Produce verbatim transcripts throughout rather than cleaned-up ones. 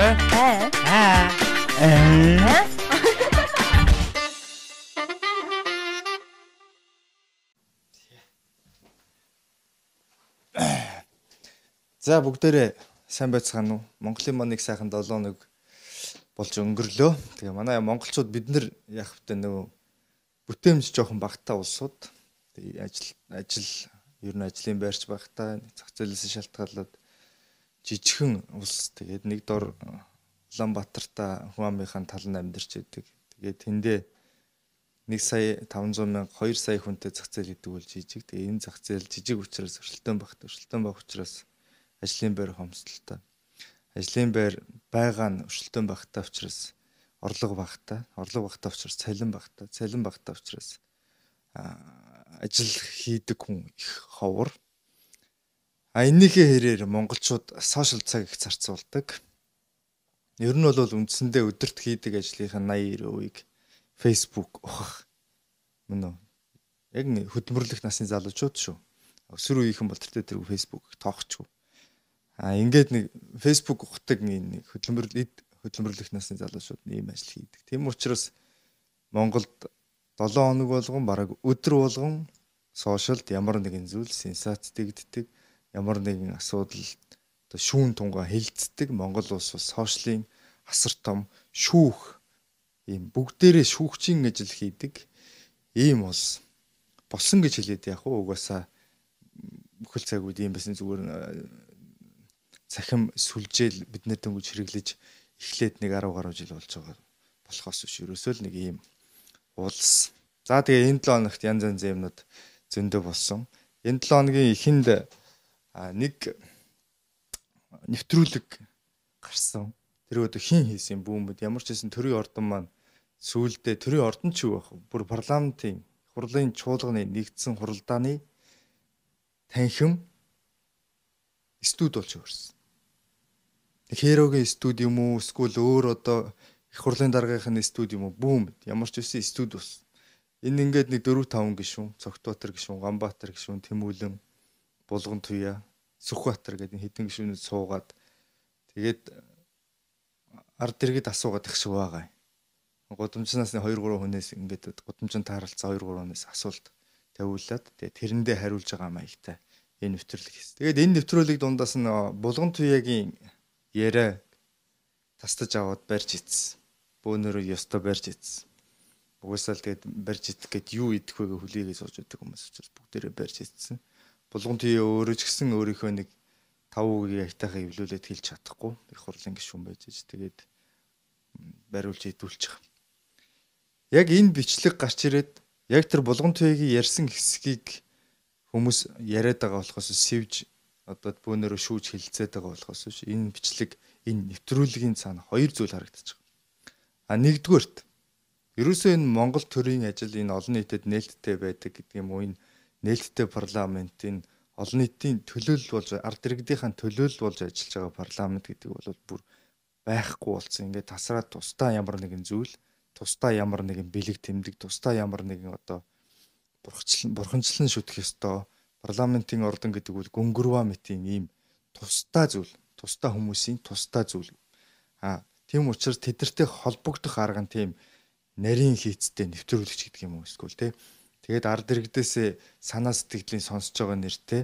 Аа. Аа. Аа. За бүгдээрээ сайн байцгаана уу? Монголын маань нэг сайхан долоо нэг болж өнгөрлөө. Тэгээ манай монголчууд бид нар яг хөтэ нөгөө бүтээмж жоохон багтаа улсууд. Тэгээ ажил ажил ер нь ажлын байрч багтаа зах зээлээс шалтгаалаад жижигхэн улс. Тэгээд нэг дор Улаанбаатартаа хүн амынхаа тал нь амьдарч идэг. Тэгээд тэндээ нэг сая таван зуун мянга хоёр сая хүнтэй зах зээл идэг бол жижиг. Тэгээ энэ зах зээл жижиг учраас өршөлтөөн багт өршөлтөөн баг учраас ажлын байр хомсдолтой. Ажлын байр байгаа нь өршөлтөөн багтаа учраас орлого багтаа, орлого багтаа учраас цалин багтаа, цалин багтаа учраас ажил хийдэг хүн их ховор. А энэхээ хэрээр монголчууд сошиал цаг их зарцуулдаг. Ер нь бол үндсэндээ өдөрт хийдэг ажлынхаа наяа девять %-ийг Facebook ухах. Мөн үү? Яг нэг хөдөлмөрлөх насны залуучууд шүү. Өсвөр үеийнхэн бол тэртээ тэргүй Facebook тоохчгүй. А ингээд нэг Facebook ухдаг нэг хөдөлмөрлөд хөдөлмөрлөх насны залуучууд ийм ажил хийдэг. Тийм учраас Монголд долоон хоног болгон бараг өдөр болгон сошиалд ямар нэгэн зүйл сенсац дэгддэг, ямар нэгэн асуудал одоо шүүн тунгаа хилцдэг. Монгол улс бас сошиалын асар том шүүх ийм бүгдээрээ шүүгчийн ажил хийдэг. Ийм улс болсон гэж хэлээд яг уу угаасаа бүхэл цаг үед ийм байсан зүгээр цахим сүлжээл биднэр дөнгөж хэрэглэж эхлээд нэг арав гаруй жил болж байгаа болохоос биш ерөөсөө л нэг ийм улс. За тэгээ энэ долоо хоногт янз янзын юмнууд зөндөө болсон. Энэ долоо хоногийн эхэнд нэг нэвтрүүлэг гарсан. Тэр өдөө хин хийсэн бүүмэд ямар ч хэсэн төрийн ордон маань сүүлдээ төрийн ордон ч юу байх вэ? Бүр парламентын хурлын чуулганы нэгдсэн хуралдааны танхим студ болж өрсөн. Херогийн студ юм уу эсвэл өөр одоо их хурлын даргийнхын студ юм уу бүүм ямар ч үсэн студ ус. Энэ ингээд нэг дөрвөн таван гишүүн, Цогтбаатар гишүүн, Ганбаатар гишүүн, Тэмүүлэн, Булган Туяа, Сүхбаатар гэдэг хэдэн гишүүнүүд суугаад тэгээд ард иргэд асуугаад их шиг байгаа юм. Гудамжнаас нэг хоёр гурван хүнээс ингээд гудамжинд тааралцсан хоёр гурван хүнээс асуулт тавиулаад тэгээд тэрэндээ хариулж байгаа маягтай энэ нэвтрүүлэг хийсэн. Тэгээд энэ нэвтрүүлэг дундаас нь Булган Туяагийн яриа тастаж аваад барьж ицсэн. Бөөнөрөө ёстой барьж ицсэн. Угсаал тэгээд барьж идэх гээд юу идэх вэ гэж хүлээгээ сууж байдаг хүмүүс учраас бүгдээрээ барьж ицсэн. Булган Туяа өөрөө ч гэсэн өөрийнхөө нэг таван үгийг айтайхаа эвлүүлээд хэлж чадахгүй. Их хурлын гишүүн байж ич тэгээд бариулж идүүлж байгаа. Яг энэ бичлэг гарч ирээд яг тэр Булган Туяагийн ярьсан хэсгийг хүмүүс яриад байгаа болохоос сэвж одоо бөөнөрөө шүүж хилцээд байгаа болохоос энэ бичлэг энэ нэвтрүүлгийн цаана хоёр зүйл харагдаж байгаа. А нэгдүгээрт ерөөсөө энэ Монгол төрийн ажил энэ олон нийтэд нээлттэй байдаг гэдэг юм уу, энэ нээлттэй парламент, энэ олон нийтийн төлөөлөл болж ард иргэдийн төлөөлөл болж ажиллаж байгаа парламент гэдэг бол бүр байхгүй болсон. Ингээд тасраад тусдаа ямар нэгэн зүйл, тусдаа ямар нэгэн бэлэг тэмдэг, тусдаа ямар нэгэн одоо бурхчлан бурханчлан шүтэх ёстой. Парламентын ордон гэдэг бол гүнгөрва мэтийн ийм тусдаа зүйл, тусдаа хүмүүсийн тусдаа зүйл. А тийм учраас тэдэртэй холбогдох арга нь тийм нарийн хийцтэй нэвтрүүлэгч гэдэг юм уу эсвэл тий. Тэгээд ард иргэдээс санаа сэтгэлийн сонсож байгаа нэртэй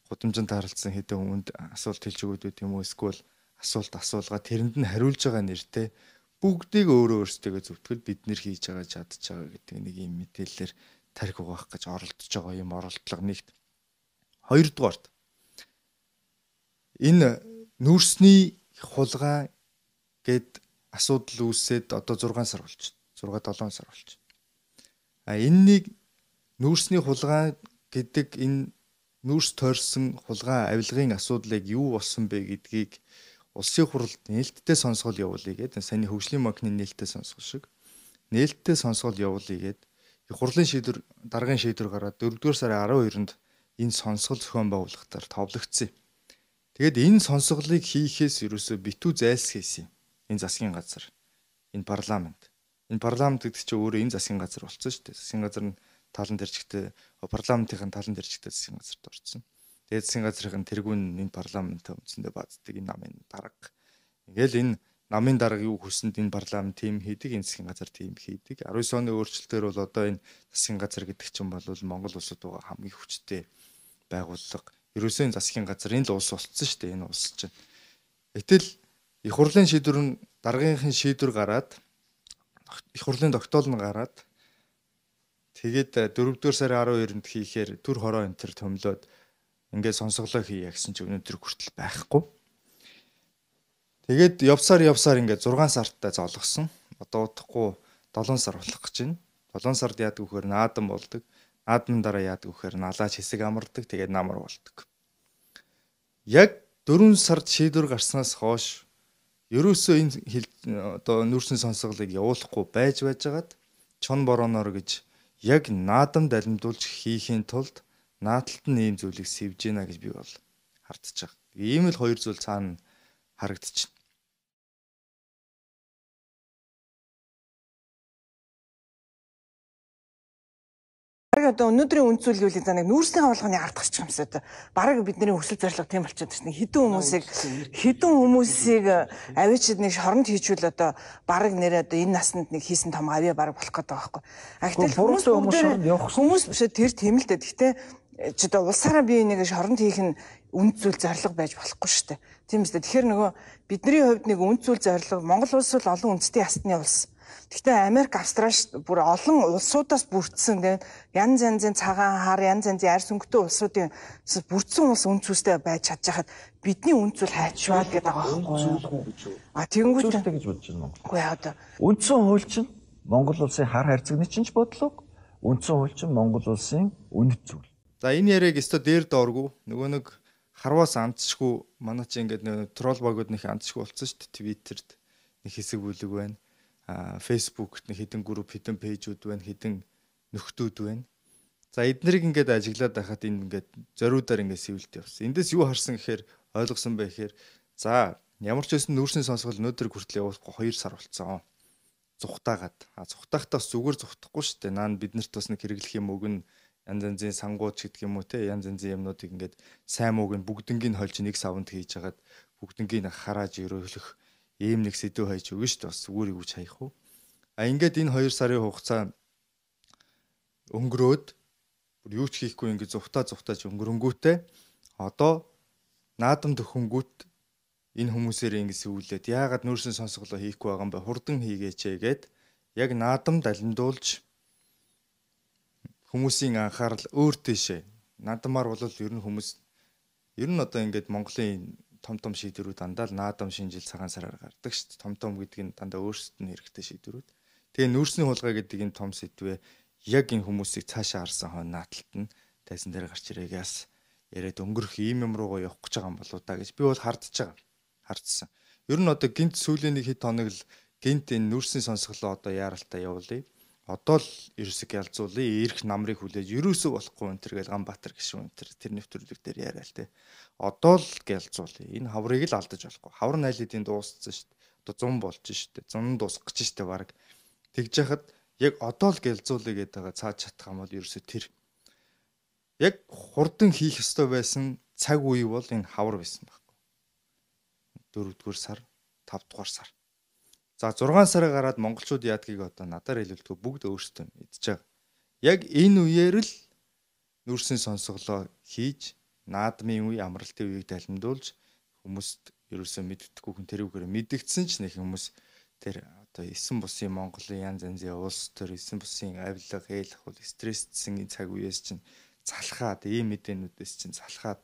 гудамжинд тааралцсан хэдэн хүнд асуулт хэлж өгөөд үү юм уу эсвэл асуулт асуулга тэрэнд нь хариулж байгаа нэртэй бүгдийг өөрөө өөрсдөө зөвтгөл бид нэр хийж байгаа чадж байгаа гэдэг нэг юм мэдээлэлээр тарих угаах гэж оролдож байгаа юм оролдлого нэгт. Хоёрдугаарт энэ нүүрсний хулгай гэд асуудал үүсээд одоо зургаан сар болж зурга долоон сар болж. А энэнийг нүүрсний хулгай гэдэг энэ нүүрс тойрсон хулгай авилгын асуудлыг юу болсон бэ гэдгийг улсын хурлд нээлттэй сонсгол явуулъя гэдэг саяны хөгжлийн банкны нээлттэй сонсгол шиг нээлттэй сонсгол явуулъя гэдэг их хурлын шийдвэр даргын шийдвэр гараад дөрөвдүгээр сарын арав хоёрнд энэ сонсгол зохион байгуулалтаар товлогдсон. Тэгэд энэ сонсголыг хийхээс ерөөсөө битүү зайлсхийсэн. Энэ засгийн газар, энэ парламент. Энэ парламент гэдэг чинь өөрөө энэ засгийн газар болсон шүү дээ. Засгийн газар нь талан дэржигтэй, парламентын талан дэржигтэй засгийн газарт орсон. Тэгээд засгийн газрын тэргүүн энэ парламент үндсэндээ бааздаг энэ намын дарга. Ингээл энэ намын дарга юу хүсэнд энэ парламент тийм хийдэг, энэ засгийн газар тийм хийдэг. аравдугаар оны өөрчлөлтөөр бол одоо энэ засгийн газар гэдэг чинь бол Монгол улсад байгаа хамгийн хүчтэй байгууллага. Ерөөсөө энэ засгийн газар энэ л улс болцсон шүү дээ, энэ улс чинь. Гэтэл их хурлын шийдвэр нь даргийнхын шийдвэр гараад их хурлын тогтоол нь гараад тэгээд дөрөвдүгээр сарын арав хоёрнд хийхээр төр хороо энэ төр төмлөөд ингээд сонсголоо хийя гэсэн чи өнөөдөр хүртэл байхгүй. Тэгээд явсаар явсаар ингээд зургаан сарттай золгосон. Одоо удахгүй долоон сар болох гэж байна. долоон сард яадаг вөхөр наадам болдог. Наадмын дараа яадаг вөхөр налаач хэсэг амардаг. Тэгээд намар болдог. Яг дөрвөн сард шийдвэр гарснаас хойш ерөөсөө энэ одоо нүүрсний сонсголыг явуулахгүй байж байжгаад чон бороноор гэж яг наадам далимдуулж хийхийн тулд нааталт нь ийм зүйлийг сэвж гинэ гэж би бол хардж байгаа. Ийм л хоёр зүйл цаана харагдчихна. Бараг одоо өнөөдрийн үнд зүйл гэвэл за нэг нүүрсний хавлганы ардагч юмсаа одоо бараг бидний өсөл зорилго тийм болчиход байна. Хэдэн хүмүүсийг хэдэн хүмүүсийг авичид нэг шоронд хийчүүл одоо бараг нэрээ одоо энэ наснд нэг хийсэн том авьяа бараг болох гэдэг байгаа байхгүй. А гэтэл хүмүүс хүмүүс биш тэр тийм л дээ. Гэхдээ ч одоо улсаараа бие нэг шоронд хийх нь үнд зүйл зорилго байж болохгүй шүү дээ. Тийм үстэй. Тэгэхээр нөгөө бидний хувьд нэг үнд зүйл зорилго Монгол улс бол олон үндэстэн ясны улс. Гэхдээ Америк, Австрали бүр олон улсуудаас бүрдсэн тийм янз янзын цагаан хар, янз янзын арьс өнгөтэй улсуудын бүрдсэн улс үнд цэвстэй байж чадчихад бидний үнд зүйл хайчвал гэдэг байгаа байхгүй. А тэгэнгүүт гэж бодож байна уу? Үгүй яа одоо. Үндсэн хууль чинь Монгол улсын хар харьцагны чинь ч бодлого, үндсэн хууль чинь Монгол улсын үнэт зүйл. За энэ яриаг өстө дээр дооргүй нөгөө нэг харваас андчгүй манай чи ингээд нэг трол багууд нэг андчгүй болсон шүү дээ. Твиттерд нэг хэсэг бүлэг байна. А фейсбુકт нэг хідэн групп, хідэн пэйжүүд байна, хідэн нөхдүүд байна. За эднэрийг ингээд ажиглаад байхад энэ ингээд зориудаар ингээд сэвэлт явсан. Эндээс юу харсан гэхээр ойлгосон байх гэхээр за ямар ч байсан нүүрсний сонсгол өнөөдөр хүртэл явуулахгүй хоёр сар болцсон. Зүхтаагаад. А зүхтаахтаас зүгээр зүхтахгүй шүү дээ. Наа бид нарт бас нэг хэрэглэх юм үг нь янз янзын сангууд гэдэг юм уу те янз янзын юмнуудыг ингээд сайн мууг нь бүгднгийн хольж нэг савнд хийж хагаад бүгднгийн харааж өрөөлөх ийм нэг сэдв хайж өгнө шүү дээ. Бас зүгээр юу ч хаях уу. А ингээд энэ хоёр сарын хугацаа өнгөрөөд бүр юу ч хийхгүй ингээд зүхтаа зүхтааж өнгөрөнгүүтээ одоо наадам төхөнгүүт энэ хүмүүсээр ингээд сүүлээд яагаад нүүрсний сонсголоо хийхгүй байгаа юм бэ? Хурдан хийгээч гээд яг наадам далимдуулж хүмүүсийн анхаарал өөр тийшээ. Наадамаар бол ер нь хүмүүс ер нь одоо ингээд Монголын том том шийдвэрүүд дандаа л наадам шинжил цагаан сараар гардаг шүү дээ. Том том гэдэг нь дандаа өөрсдөд нь хэрэгтэй шийдвэрүүд. Тэгээ нүүрсний хулгай гэдэг энэ том сэдвээ яг энэ хүмүүсийг цаашаа харсан хойно нааталт нь тайсан дээр гарч ирээгээс яриад өнгөрөх ийм юм руугаа явах гэж байгаа юм болоо да гэж би бол хардж байгаа. Хардсан. Ер нь одоо гинт сүүлийн нэг хэд хоног л гинт энэ нүүрсний сонсголоо одоо яаралтай явуулъя. Одоо л ерөөсөг ялзуулъя. Ирэх намрыг хүлээж ерөөсөө болохгүй энэ төр гэж Ганбаатар гişүн энэ төр тэр нэвтрүүлэг дээр яриа л те. Одоо л гэлзуулъя. Энэ хаврыг л алдаж болохгүй. Хавар найлуудын дууссан шүү дээ. Одоо зун болж шүү дээ. Зун дуусах гэж шүү дээ баг. Тэгж яхад яг одоо л гэлзуулъя гэдэг байгаа цааж чадах юм бол ерөөсөө тэр. Яг хурдан хийх ёстой байсан цаг үе бол энэ хавар байсан байхгүй. дөрөвдүгээр сар, тавдугаар сар. За зургаан сараа гараад монголчууд яадгийг одоо надаар хэлэлтгүй бүгд өөрсдөө мэдж байгаа. Яг энэ үеэр л нүүрсний сонсголоо хийж наадмын үе, амралтын үеийг далимдуулж хүмүүст ерөөсөө мэддэхгүй хүн тэрүүгээр мэдгдсэн ч нэг хүмүүс тэр одоо эсэн бусын Монголын янз янзын улс төр эсэн бусын авилга, хээлх бол стрессдсэн цаг үеэс чинь залхаад ийм мэдээнүүдээс чинь залхаад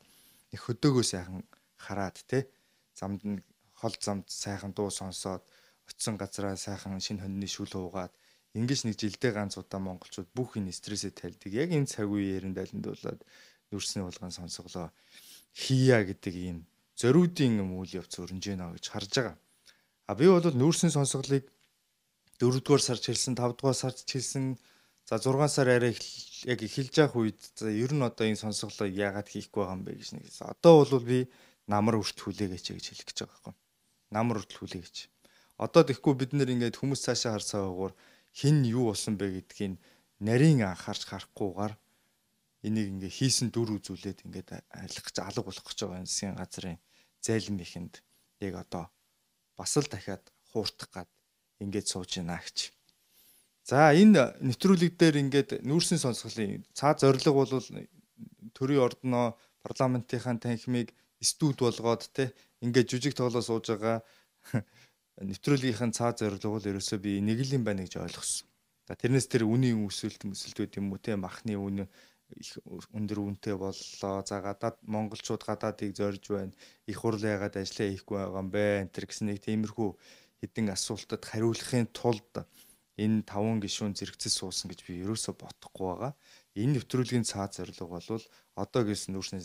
нэг хөдөөгөө сайхан хараад те замд нь хол замд сайхан дуу сонсоод очисон газараа сайхан шинэ хоньны шүл хуугаад ингэж нэг жилдээ ганц удаа монголчууд бүх энэ стрессээ тайлдаг. Яг энэ цаг үеэр нь далимдуулаад нүүрсний хулгайн сонсголоо хийя гэдэг ийм зориудын юм үйл явц өрнж гэнэ гэж харж байгаа. А би бол нүүрсний сонсголыг дөрөвдүгээр сард хэлсэн, тавдугаар сард хэлсэн, за зургаан сар арай яг эхэлж явах үед за ер нь одоо энэ сонсголоо яагаад хийхгүй байгаа юм бэ гэж нэг. Одоо бол би намар үрт хүлээгээч гэж хэлэх гэж байгаа байхгүй. Намар үрт хүлээгээч. Одоо тэгэхгүй бид нэр ингээд хүмүүс цаашаа харсаагаар хин юу болсон бэ гэдгийг нарийн анхаарч харахгүйгээр энийг ингээ хийсэн дүр үзүүлээд ингээд алих гэж алга болох гэж байгаа энэ засгийн газрын зайлм ихэнд яг одоо бас л дахиад хууртах гад ингээд сууж байна гэж. За энэ нэвтрүүлэг дээр ингээд нүүрсийн сонсголын цаа зорилго бол төрийн ордноо парламентынхаа танхимыг студ болгоод те ингээд жүжиг тоглоо сууж байгаа нэвтрүүлгийнхэн цаа зорилго бол ерөөсөө би нэг л юм байна гэж ойлгосон. За тэрнээс тэр үнийн өсөлт өсөлтүүд юм уу те махны үн их өндөр үнэтэй боллоо. За гадаад монголчууд гадаадыг зорж байна. Их хурл яагаад ажиллаа хийхгүй байгаа юм бэ? Энтэр гэсэн нэг тиймэрхүү хэдэн асуултад хариулахын тулд энэ таван гишүүн зэрэгцэл суусан гэж би ерөөсө бодохгүй байгаа. Энэ нэвтрүүлгийн цаад зорилго бол одоо гэсэн нүүрсний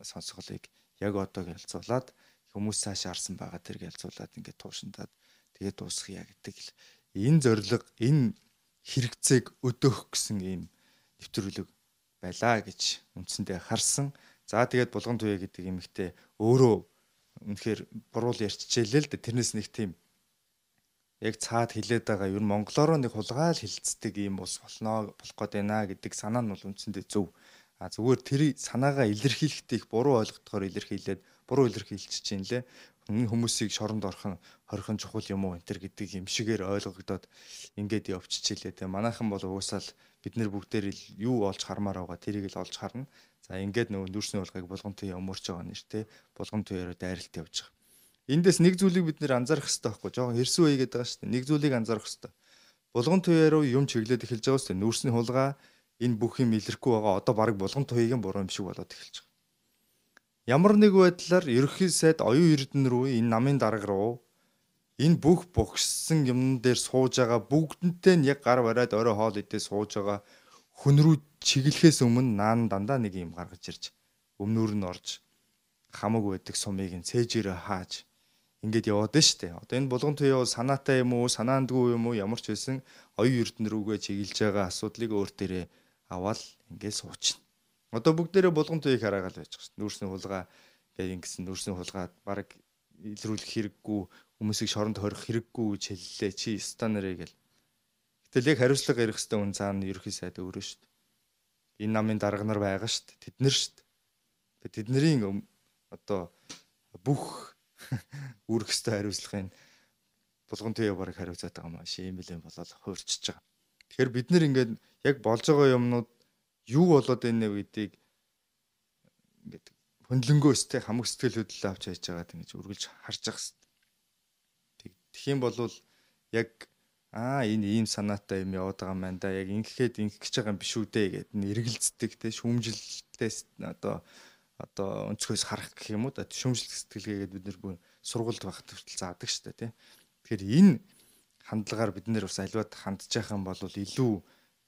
сонсголыг яг одоо гэлцуулаад хүмүүс цааш арсан байгаа тэр гэлцуулаад ингээд туушандаад тэгээд дуусгая гэдэг л энэ зорилго энэ хэрэгцээг өдөөх гэсэн ийм нэвтрүүлэг байлаа гэж үндсэндээ харсан. За тэгээд Булган Туяа гэдэг эмэгтэй өөрөө үнэхээр буруу ярьчихжээ л дээ. Тэрнээс нэг тийм яг цаад хилээд байгаа ер нь монголоор нэг хулгаал хилцдэг юм ус болно болох гээд байна гэдэг санаа нь бол үндсэндээ зөв. А зүгээр тэр санаагаа илэрхийлэхдээ их буруу ойлгохоор илэрхийлээд буруу илэрхийлж чинь лээ. Хүмүүсийг шоронд орхон хорхон чухал юм уу энэ төр гэдэг юм шигээр ойлгогдоод ингээд явчихжээ лээ. Манайхан бол уусаал бид нэр бүгдээр юу олж хармаар байгаа тэрийг л олж харна. За ингээд нөгөө нүүрсний хулгайг Булган Туяа өмөрч байгаа нэртэй Булган Туяараа дайралт явж байгаа. Эндээс нэг зүйлийг бид нэр анзаарах хэрэгтэй байхгүй жоохон хэрсүү үе гэдэг байгаа шүү дээ. Нэг зүйлийг анзаарах хэрэгтэй. Булган Туяа руу юм чиглээд эхэлж байгаа шүү дээ. Нүүрсний хулгай энэ бүх юм илэрхгүй байгаа. Одоо баг Булган Туяагийн буруу юм шиг болоод эхэлж байгаа. Ямар нэг байдлаар ерөнхий сайд оюун эрдэнэ рүү энэ намын дарга руу энэ бүх богссон юм дээр сууж байгаа бүгднтэй нь яг гар бариад орой хоол идээ сууж байгаа хүн рүү чиглэхээс өмнө наан дандаа нэг юм гаргаж ирж өмнөр нь орж хамаг байдаг сумыг нь цээжээрээ хааж ингээд яваад нь штэ. Одоо энэ Булган Туяа санаатай юм уу, санаандгүй юм уу ямар ч байсан оюун эрдэнэ рүүгээ чиглэж байгаа асуудлыг өөр дээрээ аваад ингээд суучна. Одоо бүгдээрээ Булган Туяаг хараагаал байж байгаа шүү. Нүүрсний хулгай гэдэг ингэсэн нүүрсний хулгайд баг илрүүлэх хэрэггүй, хүмүүсийг шоронд хорих хэрэггүй гэж хэллээ. Чи станарэ гэл. Гэтэл яг хариуцлага ярих хэвээр үн цаана ерөнхий сайд өөрөө шүү. Энэ намын дарга нар байгаа шүү. Тэд нар шүү. Тэднэрийн одоо бүх үүрэх хэвээр хариуцлагын Булган Туяа барыг хариуцаад байгаа юм шиг юм билээ болоод хуурчиж байгаа. Тэгэхээр бид нэр ингээд яг болж байгаа юмнууд юу болоод байна вэ гэдгийг ингээд хөндлөнгөөстэй хамаг сэтгэл хөдлөлөө авч яаж байгаад ингэж үргэлж харж байгаа хэвээр. Тэгэх юм бол яг аа энэ ийм санаатай юм яваад байгаа юм байна да. Яг ингэхэд ингэх гэж байгаа юм биш үү дээ гэдэг нь эргэлздэг те шүүмжлэлтээс одоо одоо өнцгөөс харах гэх юм уу да. Шүүмжлэлт сэтгэлгээгээд бид нэр сургуульд байхад хүртэл заадаг шүү дээ те. Тэгэхээр энэ хандлагаар бид нэр бас аливаад хандж байгаа юм бол илүү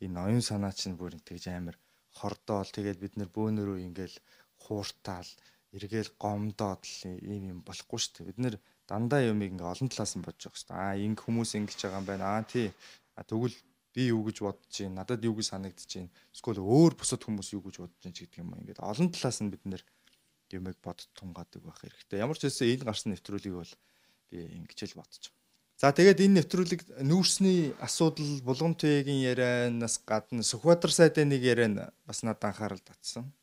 энэ оюун санаа чинь бүр тэгж амар хордоол тэгээд бид нэр бөөнөрөө ингээл хууртаал эргээл гомдоод л ийм юм болохгүй шүү дээ. Бид нэр дандаа юмыг ингээ олон талаас нь бодож байгаа шүү дээ. Аа инг хүмүүс ингэж байгаа юм байна. Аа тий. Тэгвэл би юу гэж бодож чинь, надад юу гэж санагдаж чинь, эсвэл өөр бусад хүмүүс юу гэж бодож чинь гэдэг юм. Ингээд олон талаас нь бид нэр юмыг бодд тунгаадаг байх хэрэгтэй. Ямар ч байсан энэ гарсан нэвтрүүлгийг бол би ингэж л бодож байгаа. За тэгээд энэ нэвтрүүлэг нүүрсний асуудал Булган Туяагийн ярианаас гадна Сүхбаатар сайдын нэг яриан бас надад анхаарал татсан.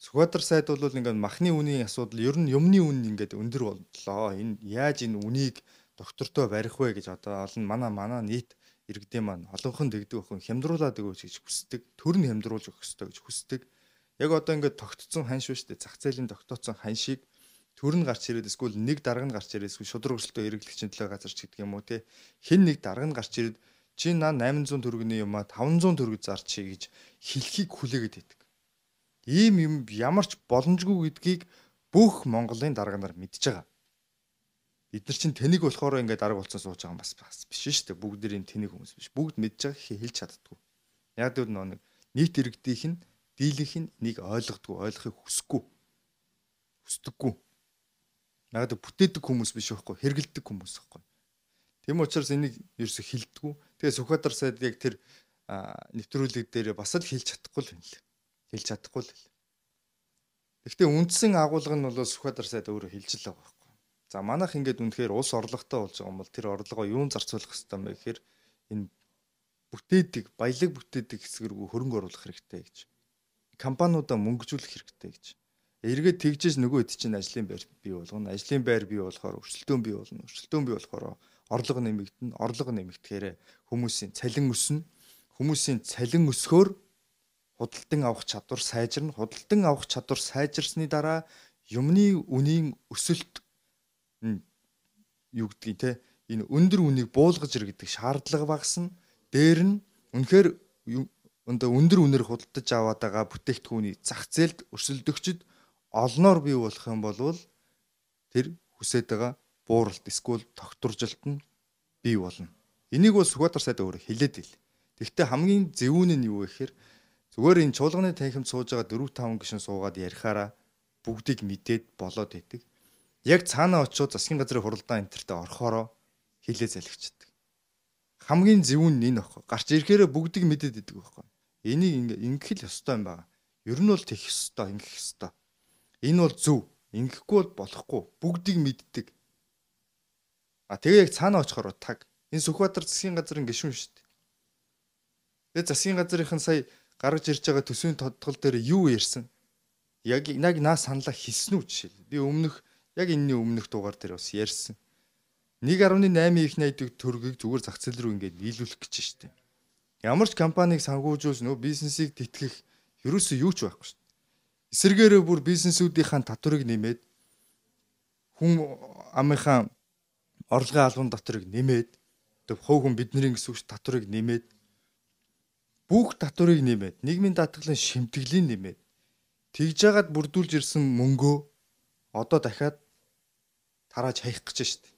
Сүхбаатар сайд бол ингээд махны үнийн асуудал ер нь юмны үн ингээд өндөр боллоо. Энэ яаж энэ үнийг доктортой барих вэ гэж одоо олон манай манай нийт иргэдийн маань олонхон дэгдэг охин хямдруулаад өгөөч гэж хүсдэг. Төр нь хямдруулж өгөх ёстой гэж хүсдэг. Яг одоо ингээд тогтцсон хань шүү дээ. Зах зээлийн тогтооцсон хань шиг төр нь гарч ирээд эсвэл нэг дарга нь гарч ирээд эсвэл шудраг өрсөлдөө эргэлгчийн төлөө газар ч гэдэг юм уу те хэн нэг дарга нь гарч ирээд чи наа восемь сая төгрөгийн юм а таван сая төгрөг зарчи гэж хэлхийг хүлээгээд байдаг. Ийм юм ямар ч боломжгүй гэдгийг бүх Монголын дарга нар мэдж байгаа. Бид нар чинь тэнийг болохоор ингээд дарга болцсон сууж байгаа юм бас биш шүү дээ. Бүгдээрийн тэнийг хүмүүс биш. Бүгд мэдж байгаа гэхээ хэлж чаддгүй. Яг л нэг нийт иргэдийнх нь дийлэнх нь нэг ойлгодгүй, ойлгохыг хүсэхгүй. Хүсдэггүй. Наад бүтээдэг хүмүүс биш байхгүй хэргэлдэг хүмүүс байхгүй. Тийм учраас энийг ерөөсө хилдэггүй. Тэгээ Сүхбаатар сайд яг тэр нэвтрүүлэг дээр бас л хэлж чадахгүй л юм л. Хэлж чадахгүй л. Гэхдээ үндсэн агуулга нь бол Сүхбаатар сайд өөрөө хэлж л байгаа байхгүй. За манайх ингээд үнэхээр улс орлоготой болж байгаа юм бол тэр орлогоо юун зарцуулах хэрэгтэй юм бэ гэхээр энэ бүтээдэг, баялаг бүтээдэг хэсэг рүү хөрөнгө оруулах хэрэгтэй гэж. Компаниудаа мөнгөжүүлэх хэрэгтэй гэж. Эргээд тэгжээс нөгөө хэд чинь ажлын байр бий болгоно. Ажлын байр бий болохоор өрсөлдөөн бий болно. Өрсөлдөөн бий болохоор орлого нэмэгдэнэ. Орлого нэмэгдэхээр хүмүүсийн цалин өснө. Хүмүүсийн цалин өсгөөр худалдан авах чадвар сайжирна. Худалдан авах чадвар сайжирсны дараа юмны үнийн өсөлт юу гэдгийг те энэ өндөр үнийг буулгаж иргэдэг шаардлага багасна. Дээр нь үнэхээр өндөр өндөр үнээр худалдаж аваад байгаа бүтээгдэхүүний зах зээлд өрсөлдөгчд олноор бий болох юм бол тэр хүсэж байгаа бууралт эсвэл тогтворжилт нь бий болно. Энийг бол Сүхбаатар сайд өөрөө хэлээд ил. Тэгэхдээ хамгийн зөвүүн нь юу вэ гэхээр зүгээр энэ чуулганы танхимд сууж байгаа дөрөв таван гишүүн суугаад ярихаараа бүгдийг мэдээд болоод идэг. Яг цаанаа очиод засгийн газрын хуралдаан энтертэй орохороо хилээ залгичдаг. Хамгийн зөвүүн нь энэ баггүй. Гарч ирэхээрээ бүгдийг мэдээд идэг баггүй. Энийг ингэх л ёстой юм байна. Ер нь бол тэгэх ёстой, ингэх ёстой. Энэ бол зөв. Ингэхгүй бол болохгүй. Бүгдийг мэддэг. А тэгээ яг цаанаа очихоор таг. Энэ Сүхбаатар засгийн газрын гишүүн шүү дээ. Тэгээ засгийн газрынхан сая гаргаж ирж байгаа төсвийн тодтгол дээр юу ярьсан? Яг яг наа саналаа хэлсэн үү жишээл. Би өмнөх яг энэний өмнөх дугаар дээр бас ярьсан. нэг гаруй восемь их найддаг төгрөгийг зүгээр зах зээл рүү ингээд нийлүүлэх гэж штеп. Ямар ч компанийг санхүүжүүлж нөө бизнесийг тэтгэх ерөөсөө юу ч байхгүй штеп. Эсвэргээрээ бүр бизнесүүдийн татварыг нэмээд хүн амынхаа орлогын албан татварыг нэмээд төв хов хүн бидний гэсэн үг татварыг нэмээд бүх татварыг нэмээд нийгмийн даатгалын шимтгэлийг нэмээд тэгж жагаад бүрдүүлж ирсэн мөнгөө одоо дахиад тарааж хаях гэж штеп.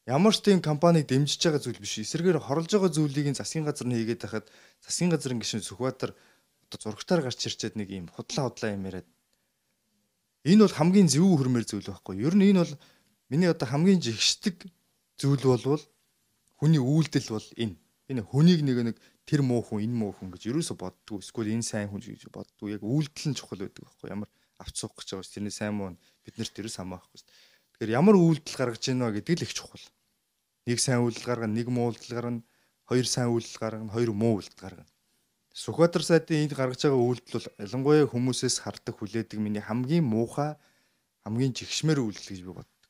Ямар ч тийм компанийг дэмжиж байгаа зүйл биш. Эсвэргээр хорлож байгаа зүйлийг засгийн газар нь хийгээд байхад засгийн газрын гишүүн Сүхбаатар одоо зургатаар гарч ирчээд нэг юм худлаа худлаа юм яриад. Энэ бол хамгийн зөв хөрмөр зүйл байхгүй. Ер нь энэ бол миний одоо хамгийн жигшдэг зүйл болвол хүний үйлдэл бол энэ. Энэ хүнийг нэг нэг тэр муу хүн, энэ муу хүн гэж ерөөсө боддгоо. Эсвэл энэ сайн хүн гэж боддгоо. Яг үйлдэл нь чухал байдаг байхгүй. Ямар авч суух гэж байгаа ш. Тэрний сайн муу биднэрт ерөөс хамаахгүй ш. Тэгэхээр ямар үйлдэл гаргаж ийнэ гэдэг л их чухал. Нэг сайн үйлдэл гаргана, нэг муу үйлдэл гаргана, хоёр сайн үйлдэл гаргана, хоёр муу үйлдэл гаргана. Сүхбаатар сайдын энд гаргаж байгаа үйлдэл бол ялангуяа хүмүүсээс хардаг хүлээдэг миний хамгийн муухай, хамгийн жигшмээр үйлдэл гэж би боддог.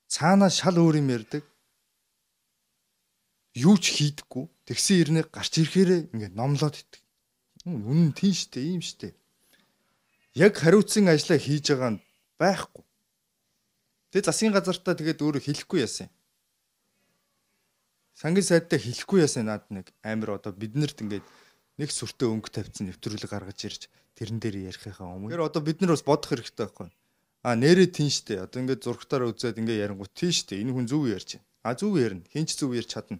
Цаанаа шал өөр юм ярьдаг. Юу ч хийдэггүй. Тэгсэн ирнэ гарч ирэхээрээ ингээд номлоод иддэг. Үнэн тийм штэ, ийм штэ. Яг хариуцсан ажлаа хийж байгаа нь байхгүй. Тэгээ засгийн газартаа тэгээд өөрөө хэлэхгүй яасан. Сангийн сайдтай хэлэхгүй яасан над нэг амир одоо биднэрт ингээд нэг сүртэй өнгө тавьсан нэвтрүүлэг гаргаж ирж тэрэн дээр ярихынхаа өмнө. Тэр одоо бид нар бас бодох хэрэгтэй байхгүй. А нэрээ тийм штэ. Одоо ингээд зургатаараа үзээд ингээд ярингуут тийм штэ. Энэ хүн зөв ярьж байна. А зөв ярина. Хин ч зөв ярьж чадна.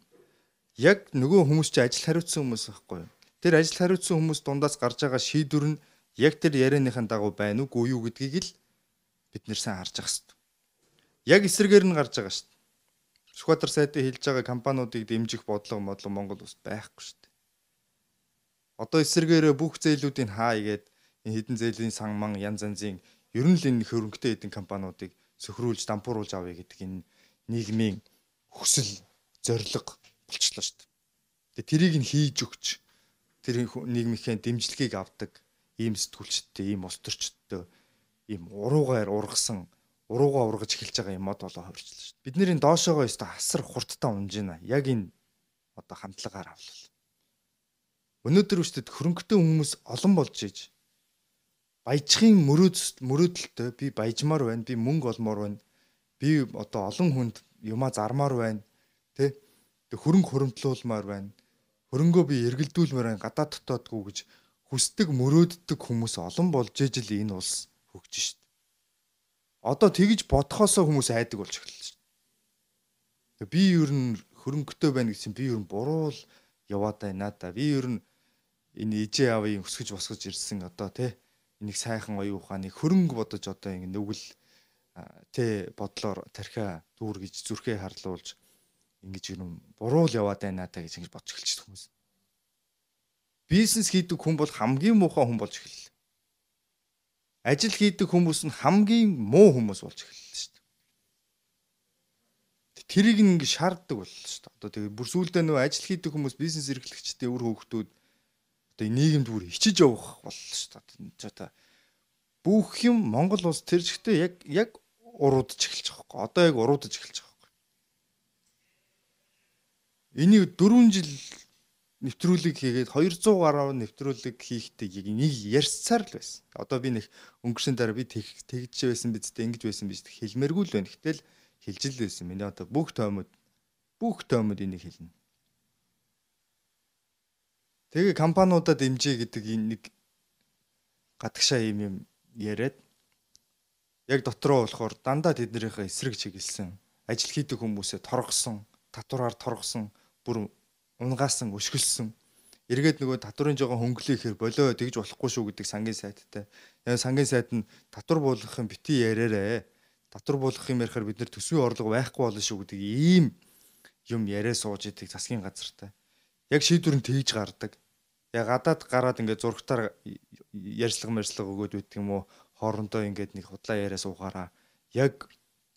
Яг нөгөө хүмүүс чи ажил хариуцсан хүмүүс байхгүй. Тэр ажил хариуцсан хүмүүс дундаас гарч байгаа шийдвэр нь яг тэр ярианыхын дагуу байна уу, үгүй юу гэдгийг л бид нэр сайн харж ах хэрэгтэй. Яг эсрэгээр нь гарч байгаа штэ. Сүхбаатар сайдын хэлж байгаа компаниудыг дэмжих бодлого модлого Монгол улсад байхгүй штэ. Одоо эсрэгээрээ бүх зээлүүдийг хаа игээд энэ хэдэн зээлийн сан ман янз янзын ер нь л энэ хөрөнгөтэй хэдэн компаниудыг сөхрүүлж дампууруулж авъя гэдэг энэ нийгмийн хүсэл зорилго болчихлоо шүү дээ. Тэгээ тэрийг нь хийж өгч тэр нийгмийнхээ дэмжлэгийг авдаг ийм сэтгүүлчтэй, ийм улс төрчтэй, ийм уруугаар ургасан, уруугаа ургаж эхэлж байгаа юм мод болоо хувирчлаа шүү дээ. Бид нэрийн доошоогоо өстө асар хурдтай унж байна. Яг энэ одоо хандлагаар авлаа. Өнөөдөр үстэд хөрөнгөтэй хүмүүс олон болж иж баяжхын мөрөөд мөрөөдөлтөй би баяжмаар байна, би мөнгө олмоор байна, би одоо олон хүнд юмаа зармаар байна, тэ хөрөнгө хуримтлуулмаар байна, хөрөнгөө би эргэлдүүлмээр байна, гадаа дотоодгүй гэж хүсдэг мөрөөддөг хүмүүс олон болж иж л энэ улс хөгжиж шít. Одоо тэгж бодхосоо хүмүүс айдаг болж эхэллээ шít. Би ер нь хөрөнгөтэй байна гэсэн би ер нь буруу л яваад байна да. Би ер нь энэ ижээ авъя өсгөж босгож ирсэн одоо тий энийг сайхан оюун ухааныг хөрөнгө бодож одоо ингэ нүгэл тий бодлоор тархиа дүүр гэж зүрхээ харлуулж ингэж юм буруу л яваад байна та гэж ингэж бодж эхэлчихсэн хүмүүс. Бизнес хийдэг хүн бол хамгийн муухай хүн болж эхэллээ. Ажил хийдэг хүмүүс нь хамгийн муу хүмүүс болж эхэллээ шүү дээ. Тэрийг ингэ шаарддаг боллоо шүү дээ. Одоо тэгээ бүр сүүлдээ нөө ажил хийдэг хүмүүс бизнес эрхлэгчтэй өр хөөгтүүд одоо нийгэмд бүр хичиж явах боллоо шүү дээ. Одоо бүх юм Монгол улс тэр жигтэй яг яг уруудж эхэлж байгаа байхгүй. Одоо яг уруудж эхэлж байгаа байхгүй. энийг дөрвөн жил нэвтрүүлэг хийгээд двухсад гаруй нэвтрүүлэг хийхдээ нэг ярьсаар л байсан. Одоо би нэг өнгөрсөн дараа би тэгж байсан биз дээ, ингэж байсан биз дээ хэлмээргүй л байна. Гэтэл хэлж л байсан. Миний одоо бүх тоомод бүх тоомод энийг хэлнэ. Тэгээ компаниудад дэмжээ гэдэг энэ нэг гадагшаа юм юм яриад яг дотроо болохоор дандаа тэднийхээ эсрэг чиглэсэн, ажил хийдэг хүмүүсээ торгосон, татвараар торгосон, бүр унгаасан, өшгөлсөн. Эргээд нөгөө татварын жоохон хөнгөлөө ихээр болоо тэгж болохгүй шүү гэдэг сангийн сайттай. Яг сангийн сайт нь татвар буулгах юм бити яриараа. Татвар буулгах юм ярихаар бид нэр төсвийн орлого байхгүй болно шүү гэдэг ийм юм яриа сууж идэг засгийн газартай. Яг шийдвэр нь тэгж гардаг. Яг гадаад гараад ингээд зургатаар ярьслага мэрслага өгөөд үйт юм уу хоорондоо ингээд нэг худлаа яриа суугаараа яг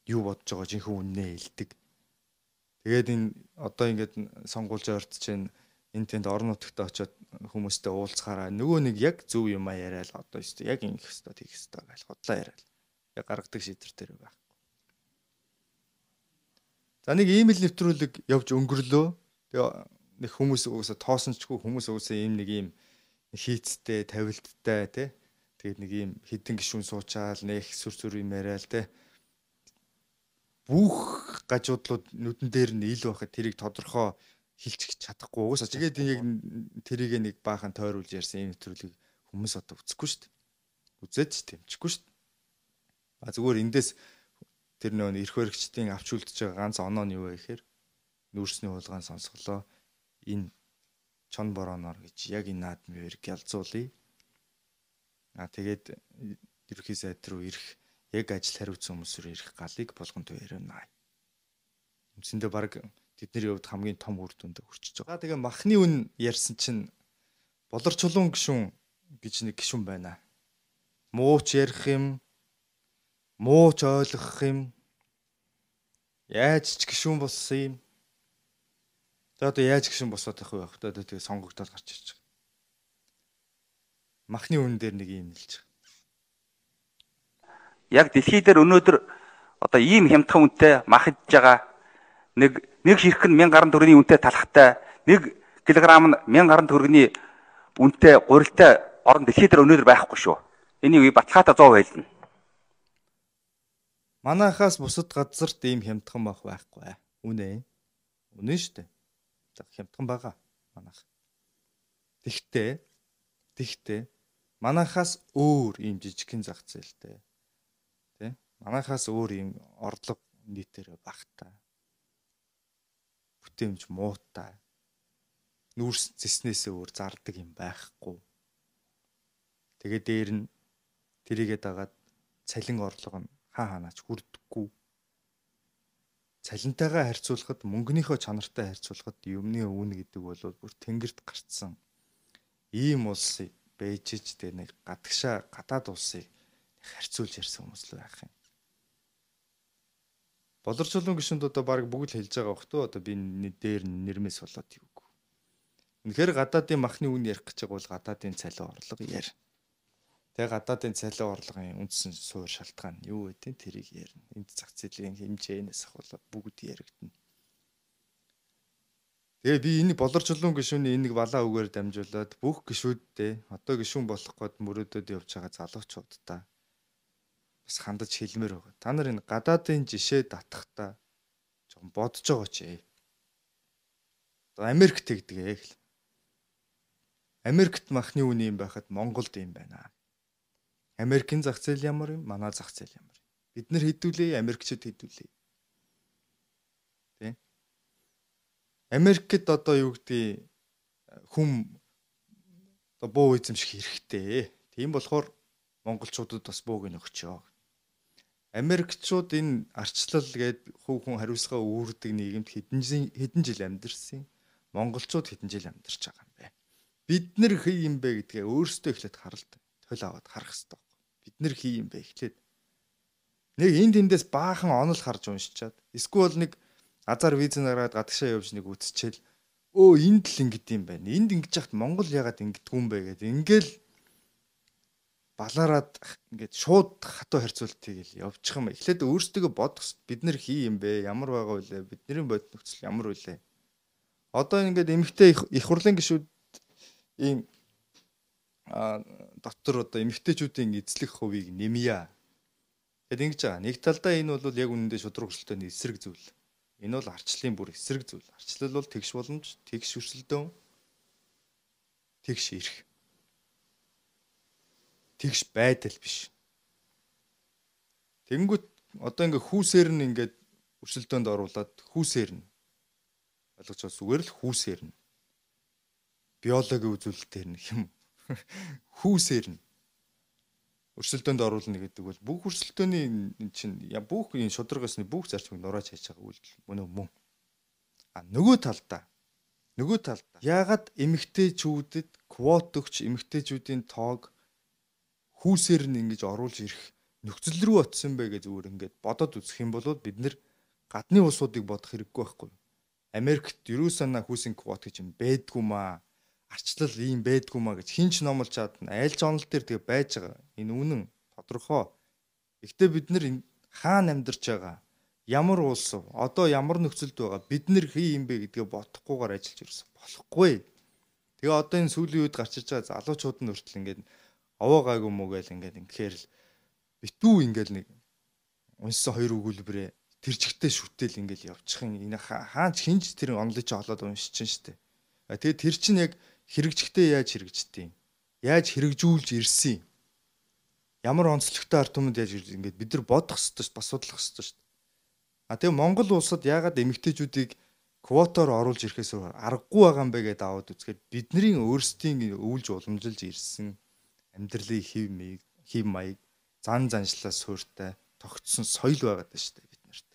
юу бодож байгаа жинхэнэ үннээ хэлдэг. Тэгээд энэ одоо ингээд сонгуульжаа ортж чинь энэ тэнд орон нутагт очиод хүмүүстэй уулзахаараа нөгөө нэг яг зөв юм а яриад одоо ёстой яг ингэх ёстой тийх ёстой гэж худлаа яриад яг гаргадаг шийдвэр дээр байхгүй. За нэг ийм л нэвтрүүлэг явж өнгөрлөө. Тэгээ нэг хүмүүс уусаа тоосончгүй хүмүүс уусаа ийм нэг ийм хийцтэй, тавилттай тий. Тэгээд нэг ийм хідэн гишүүн суучаал нэг сүр сүр юм яриад тий. Бүх гажуудлууд нүдэн дээр нь ил байхад тэрийг тодорхой хилчих чадахгүй. Уусаа тэгээд яг тэрийг нэг баахан тойруулж ярьсан ийм нэвтрүүлэг хүмүүс одоо үзэхгүй шүү дээ. Үзээд ч тэмчихгүй шүү дээ. А зүгээр эндээс тэр нөө эрх баригчдын авч үлдэж байгаа ганц оноо нь юу вэ гэхээр нүүрсний хулгайн сонсголоо энэ чон борооноор гэж яг энэ наадмын ялзуулъя. А тэгээд ерхий сайд руу ирэх яг ажил хариуцсан хүмүүсээр ирэх галыг болгон төвөрнө. Үндсэндээ баг тэдний хувьд хамгийн том үр дүнд хүрчихэж байгаа. Тэгээ махны үн ярьсан чинь болор чулуун гишүүн гэж нэг гишүүн байна. Мууч ярих юм, мууч ойлгох юм. Яаж ч гишүүн болсон юм. За одоо яаж гишүүн босоод байх вэ? Одоо тэгээ сонгогдоод гарч ирж байгаа. Махны үн дээр нэг юм хэлж байгаа. Яг дэлхий дээр өнөөдөр одоо ийм хямдхан үнэтэй мах идж байгаа нэг нэг хэрэг нь мянган гаруй төгрөгийн үнэтэй талхтай нэг килограмм нь мянган гаруй төгрөгийн үнэтэй гурилтай орон дэлхий дээр өнөөдөр байхгүй шүү. Энийг баталгаатай сто байлна. Манайхаас бусад газарт ийм хямдхан байх байхгүй. Үнэ. Үнэ шүү дээ. За хямдхан байгаа манайх. Тэгтээ тэгтээ манайхаас өөр ийм жижигхэн зах зээлтэй. Тэ? Манайхаас өөр ийм орлого нийтээр багтаа. Бүтэмж муутай. Нүүрс зэснээсээ өөр зардаг юм байхгүй. Тэгээ дээр нь тэрийгээ дагаад цалин орлого нь хаа ханаач хүрдэггүй. Цалинтайгаа харьцуулахад мөнгөнийхөө чанартай харьцуулахад юмны үн гэдэг бол бүр тэнгэрт гарцсан. Ийм улсыг бэжж тэ нэг гадагшаа гадаад улсыг харьцуулж ярьсан хүмүүс л байх юм. Болор чулуун гишүүнд одоо баг бүгд хэлж байгаа бох тоо одоо би дээр нэрмээс болоод юуг. Үнэхээр гадаадын махны үн ярих гэж байгаа бол гадаадын цалин орлого яар. Тэгээ гадаадын цалин орлогын үндсэн суур шалтгаан юу вэ? Тэрийг ярина. Энд зах зээлийн хэмжээнээс ахвал бүгд яригдана. Тэгээ би энэ болор чулуун гишүүний энийг балаа үгээр дамжуулаад бүх гишүүдтэй одоо гишүүн болох гээд мөрөөдөд явж байгаа залуучуудаа бас хандаж хэлмээр байгаа. Та нар энэ гадаадын жишээ татахтаа жоохон бодож байгаа ч ээ. Одоо Америк тэгдэг ээ гэл. Америкт махны үн юм байхад Монголд юм байна. Америкийн зах зээл ямар юм? Манай зах зээл ямар юм? Бид нар хэдүүлээ, Америкчууд хэдүүлээ. Тэ? Америкт одоо юу гэдэг хүм одоо буу эзэмших хэрэгтэй. Тийм болохоор монголчуудад бас бууг нөхчөө. Америкчууд энэ арчлал гээд хөв хүн хариуцлага үүрдэг нийгэмд хэдэн хэдэн жил амьдэрсэн. Монголчууд хэдэн жил амьдарч байгаа юм бэ? Бид нар хий юм бэ гэдгээ өөрсдөө эхлээд харалт тойл аваад харах хэрэгтэй. Бид нар хий юм бэ эхлээд нэг энэ тэндээс баахан онол харж уншичаад эсвэл нэг азар виз нараад гадагшаа явж нэг үтсчээл өө энд л ингэд юм байна. Энд ингэж яхад Монгол ягаад ингэдэггүй юм бэ гэдэг. Ингээл балаараад ингээд шууд хатуу харьцуултыг л явуучих юм. Эхлээд өөрсдөө бодох бид нар хий юм бэ? Ямар байгаа вэ? Бидний бодит нөхцөл ямар вэ? Одоо ингээд эмэгтэй их их хурлын гишүүд ийм а дотор одоо эмэгтэйчүүдийн эзлэх хувийг нэмье. Тэгэд ингэж байгаа. Нэг талдаа энэ бол яг үнэндээ шудраг өрсөлдөөний эсрэг зүйл. Энэ бол арчлалын бүр эсрэг зүйл. Арчлал бол тэгш боломж, тэгш өрсөлдөөн, тэгш ирэх. Тэгш байдал биш. Тэнгүүт одоо ингээ хүүсээр нь ингээд өрсөлдөөнд оруулаад хүүсээр нь ойлгож байгаа зүгээр л хүүсээр нь биологийн үзүүлэлтээр нь юм хүүсээр нь өрсөлдөөнд оруулна гэдэг бол бүх өрсөлдөөний чинь бүх энэ шударгасны бүх зарчмыг нурааж хайж байгаа үйлдэл мөн мөн. А нөгөө талдаа нөгөө талдаа яагаад эмэгтэйчүүдэд квот өгч эмэгтэйчүүдийн тоог хүүсээр нь ингэж оруулж ирэх нөхцөл рүү очсон бэ гэж зүгээр ингээд бодоод үзэх юм бол бид нэр гадны улсуудыг бодох хэрэггүй байхгүй. Америкт ерөөсөө хүүсийн квот гэж юм байдгүй маа. Арчлал ийм байдгүй маа гэж хинч номлож чадна. Айлч онол дээр тэгээ байж байгаа. Энэ үнэн тодорхой. Гэхдээ бид нар хаана амьдарч байгаа? Ямар улс вэ? Одоо ямар нөхцөлд байгаа? Бид нар хий юм бэ гэдгээ бодохгүйгээр ажиллаж ирсэн. Болохгүй. Тэгээ одоо энэ сүүлийн үед гарч иж байгаа залуучууд нь хүртэл ингээд овоо гайгүй мүү гээл ингээд ингэхээр л битүү ингээд нэг унссан хоёр өгүүлбэрээ тэр чигтээ шүтэл ингээд явчих юм. Энэ хаач хинж тэр онлыг чи олоод уншиж чинь штэ. Тэгээ тэр чинь яг хэрэгжихтэй яаж хэрэгждэг юм? Яаж хэрэгжүүлж ирсэн юм? Ямар онцлогтой ард түмэнд яаж ингээд бид нар бодох ёстой шүү, бас судлах ёстой шүү. А тэгээ Монгол улсад яагаад эмэгтэйчүүдийг квотоор оруулж ирэхээс аргагүй байгаа юм бэ гэдээ аваад үзэхэд бидний өөрсдийн өвлж уламжилж ирсэн амьдралын хэв маяг, хэв маяг, зан заншлаа суурьтай тогтсон соёл байгаад байна шүү дээ бид нарт.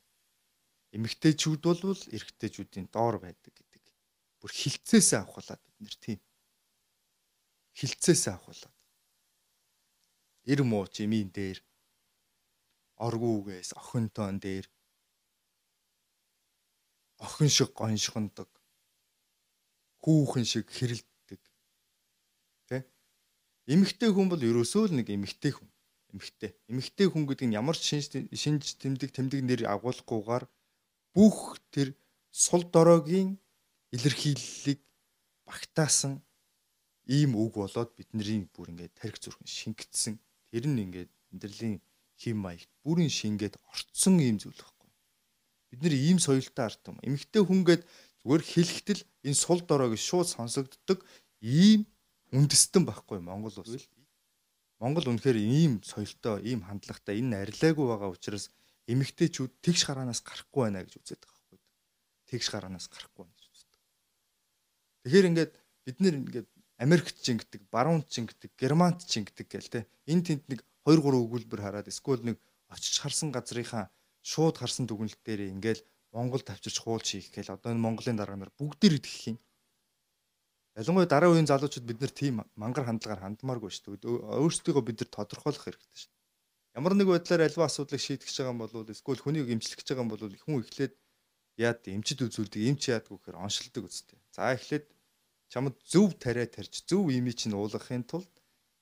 Эмэгтэйчүүд бол эрэгтэйчүүдийн доор байдаг гэдэг. Бүр хилцээсээ авахлаад бид нар тийм. Хилцээсээ авахлаад. Ир мууч эмийн дээр, оргуугээс охинтон дээр охин шиг гоншгондог, хүүхэн шиг хэрэлддэг. Тэ? Эмэгтэй хүн бол ерөөсөө л нэг эмэгтэй хүн. Эмэгтэй. Эмэгтэй хүн гэдэг нь ямар ч шинж шинж тэмдэг тэмдэг нэр агуулгахгүйгээр бүх тэр сул дороогийн илэрхийллийг багтаасан ийм үг болоод бидний бүр ингээд тарих зүрхэн шингэцсэн. Тэр нь ингээд амьдралын хэм маягт бүрэн шингээд орцсон ийм зүйл байхгүй. Бид нэр ийм соёлтой ард юм. Эмэгтэй хүнгээд зүгээр хэлэхдээ энэ сул дороог шууд сонсогддог ийм үндэстэн байхгүй Монгол улс. Монгол үнэхээр ийм соёлтой, ийм хандлагатай, энэ арилаагүй байгаа учраас эмэгтэйчүүд тэгш гараанаас гарахгүй байна гэж үздэг байхгүй. Тэгш гараанаас гарахгүй байна гэж үздэг. Тэгэхээр ингээд бид нэр ингээд Америкт чингдэг, баруунт чингдэг, Германд чингдэг гэл те. Энд тэнд нэг хоёр гурван өгүүлбэр хараад эсвэл нэг очиж харсан газрынхаа шууд харсан дүгнэлт дээр ингээл Монгол тавчирч хуулж хийх гээл одоо энэ Монголын дарга нар бүгдээр идэх юм. Ялангуяа дараа үеийн залуучууд бид нар тийм мангар хандлагаар хандмааргүй шүү дээ. Өөрсдийгөө бид нар тодорхойлох хэрэгтэй шүү дээ. Ямар нэг байдлаар альва асуудлыг шийдэх гэж байгаа юм бол эсвэл хүнийг эмчлэх гэж байгаа юм бол хүн эхлээд яад эмчд үзүүлдэг, эмч яадгүй гэхээр оншилдог үстэй. За эхлээд чамд зөв тариа тарьж зөв имийг чинь уулгахын тулд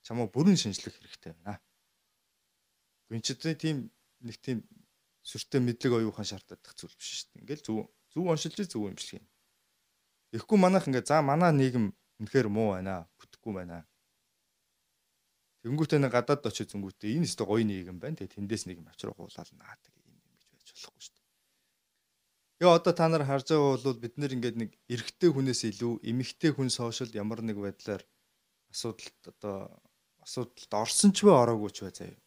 чамаа бүрэн шинжлэх хэрэгтэй байна. Гүнчтэй тийм нэг тийм сүртэй мэдлэг оюухан шаардлагатай зүйл биш шүү дээ. Ингээл зөв зөв оншилж зөв эмчилгээ. Тэгэхгүй манайх ингээ за манай нийгэм үнэхээр муу байна, бүтэхгүй байна. Тэнгүүтээ нэг гадаад очиж зөнгүүтээ энэ өстө гоё нийгэм байна. Тэгээ тэндээс нэг юм авчрах уулаад наадаг юм юм гэж байж болохгүй шүү дээ. Тэгээ одоо та нар харж байгаа бол бид нэр ингээд нэг эрэгтэй хүнээс илүү эмэгтэй хүн сошиал ямар нэг байдлаар асуудалд одоо асуудалд орсон ч бай ороогүй ч бай заяа.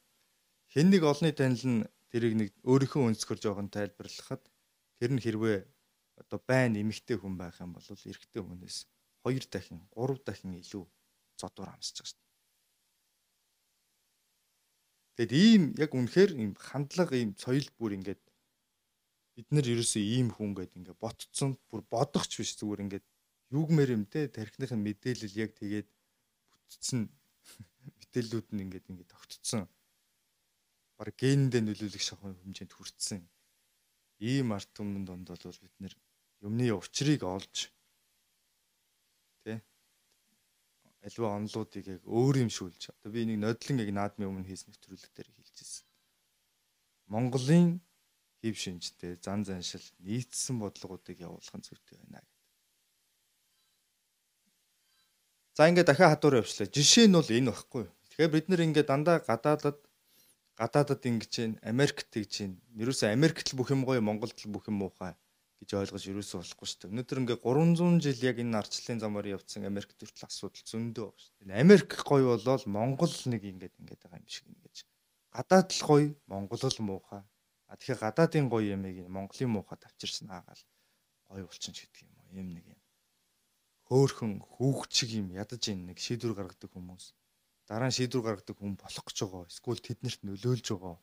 Хэн нэг олонний танил нь тэрийг нэг өөрийнхөө өнцгөр жоохон тайлбарлахад тэр нь хэрвээ одоо байна эмэгтэй хүн байх юм бол эрэгтэй хүнээс хоёр дахин, гурав дахин илүү зодуур амсаж байгаа шүү дээ. Тэгэд ийм яг үнэхээр ийм хандлага, ийм соёл бүр ингээд бид нар ерөөсөө ийм хүн гэдэг ингээд ботцсон, бүр бодохч биш зүгээр ингээд юугмэр юм те тархиныхын мэдээлэл яг тэгээд бүтцэн мэдээллүүд нь ингээд ингээд тогтцсон. Бараг генэндээ нөлөөлөх шахуу хэмжээнд хүрсэн. Ийм арт түмэн донд бол бид нэр юмны учрыг олж тий альва онлуудыг яг өөр юм шүүлж. Одоо би нэг нодлон яг наадмын өмнө хийсэн нэвтрүүлэг дээр хэлжсэн. Монголын хэв шинжтэй зан заншил нийцсэн бодлогоодыг явуулах нь зүйтэй байна гэдэг. За ингээд дахиад хадуур явчлаа. Жишээ нь бол энэ багхгүй. Тэгэхээр бид нэр ингээд дандаа гадаадад гадаадад ингэж जैन Америкт гэж जैन. Ерөөсөө Америкт л бүх юм гоё, Монголд л бүх юм муухай гэж ойлгож ерөөсөө болохгүй шүү дээ. Өнөөдөр ингээд гурван зуун жил яг энэ арчлалын замаар явцсан Америкт хүртэл асуудал зөндөө байна шүү дээ. Америк гоё болол Монгол нэг ингээд ингээд байгаа юм шиг ингэж. Гадаад л гоё, Монгол л муухай. А тэгэхээр гадаадын гоё ямыг Монголын муухай тавчирсан аагаал гоё болчихно гэдэг юм уу. Ийм нэг юм. Хөөхөн хүүгчиг юм ядаж ийн нэг шийдвэр гаргадаг хүмүүс. Дараа нь шийдвэр гаргадаг хүн болох гэж байгаа. Эсвэл тэднэрт нөлөөлж байгаа.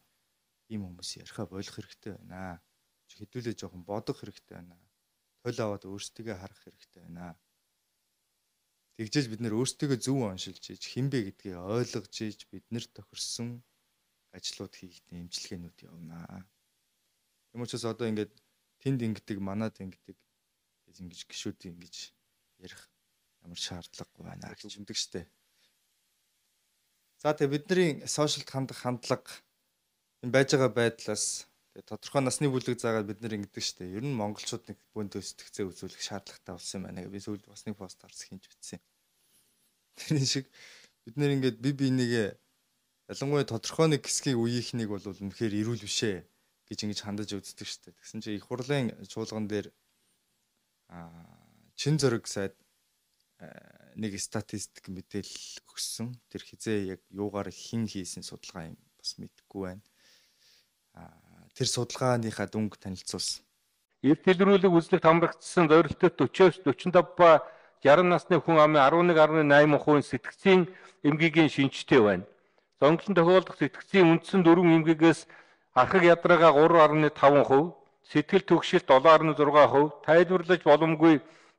Ийм хүмүүс яриха болох хэрэгтэй байна. Хэдүүлээ жоохон бодох хэрэгтэй байна. Тойл аваад өөрсдөө харах хэрэгтэй байна. Тэгжээж бид нэр өөрсдөө зөв оншилж ийж хинбэ гэдгийг ойлгож ийж бид нэр тохирсон ажлууд хийхдээ имчилгээнүүд явна. Юм учраас одоо ингээд тэнд ингэдэг, манад ингэдэг гэж ингэж гişүүд ингэж ярих ямар шаардлагагүй байна гэж үздэг штэ. За тэгээ бидний сошиалд хандах хандлага энэ байж байгаа байдлаас тэгээ тодорхой насны бүлэг заагаад бид нэр ингэдэг штэ. Ер нь монголчууд нэг бөөндөө сэтгцээ үзүүлэх шаардлагатай болсон юм байна гэж би сүүлд бас нэг пост харс хинж бичсэн. Тэр шиг бид нэр ингээд би бинийгээ ялангуяа тодорхой нэг хэсгийн үеийнхнийг бол үнэхээр ирүүл бишээ гэж ингэж хандаж үздэг штэ. Тэгсэн чинь их хурлын чуулган дээр чин зөрөг сайд нэг статистик мэдээлэл өгсөн. Тэр хизээ яг юугаар хин хийсэн судалгаа юм бас мэдэхгүй байна. Тэр судалгааныхаа дүнг танилцуулсан. Эрт илрүүлэг үзлэгт хамрагдсан зорилттой forty-four forty-five ба sixty насны хүн амын eleven point eight percent сэтгцийн эмгэгийн шинжтэй байна. Зонглон тохиолдох сэтгцийн үндсэн дөрвөн эмгэгээс архаг ядраагаа three point five percent, сэтгэл түгшилт seven point six percent, тайлбарлаж боломгүй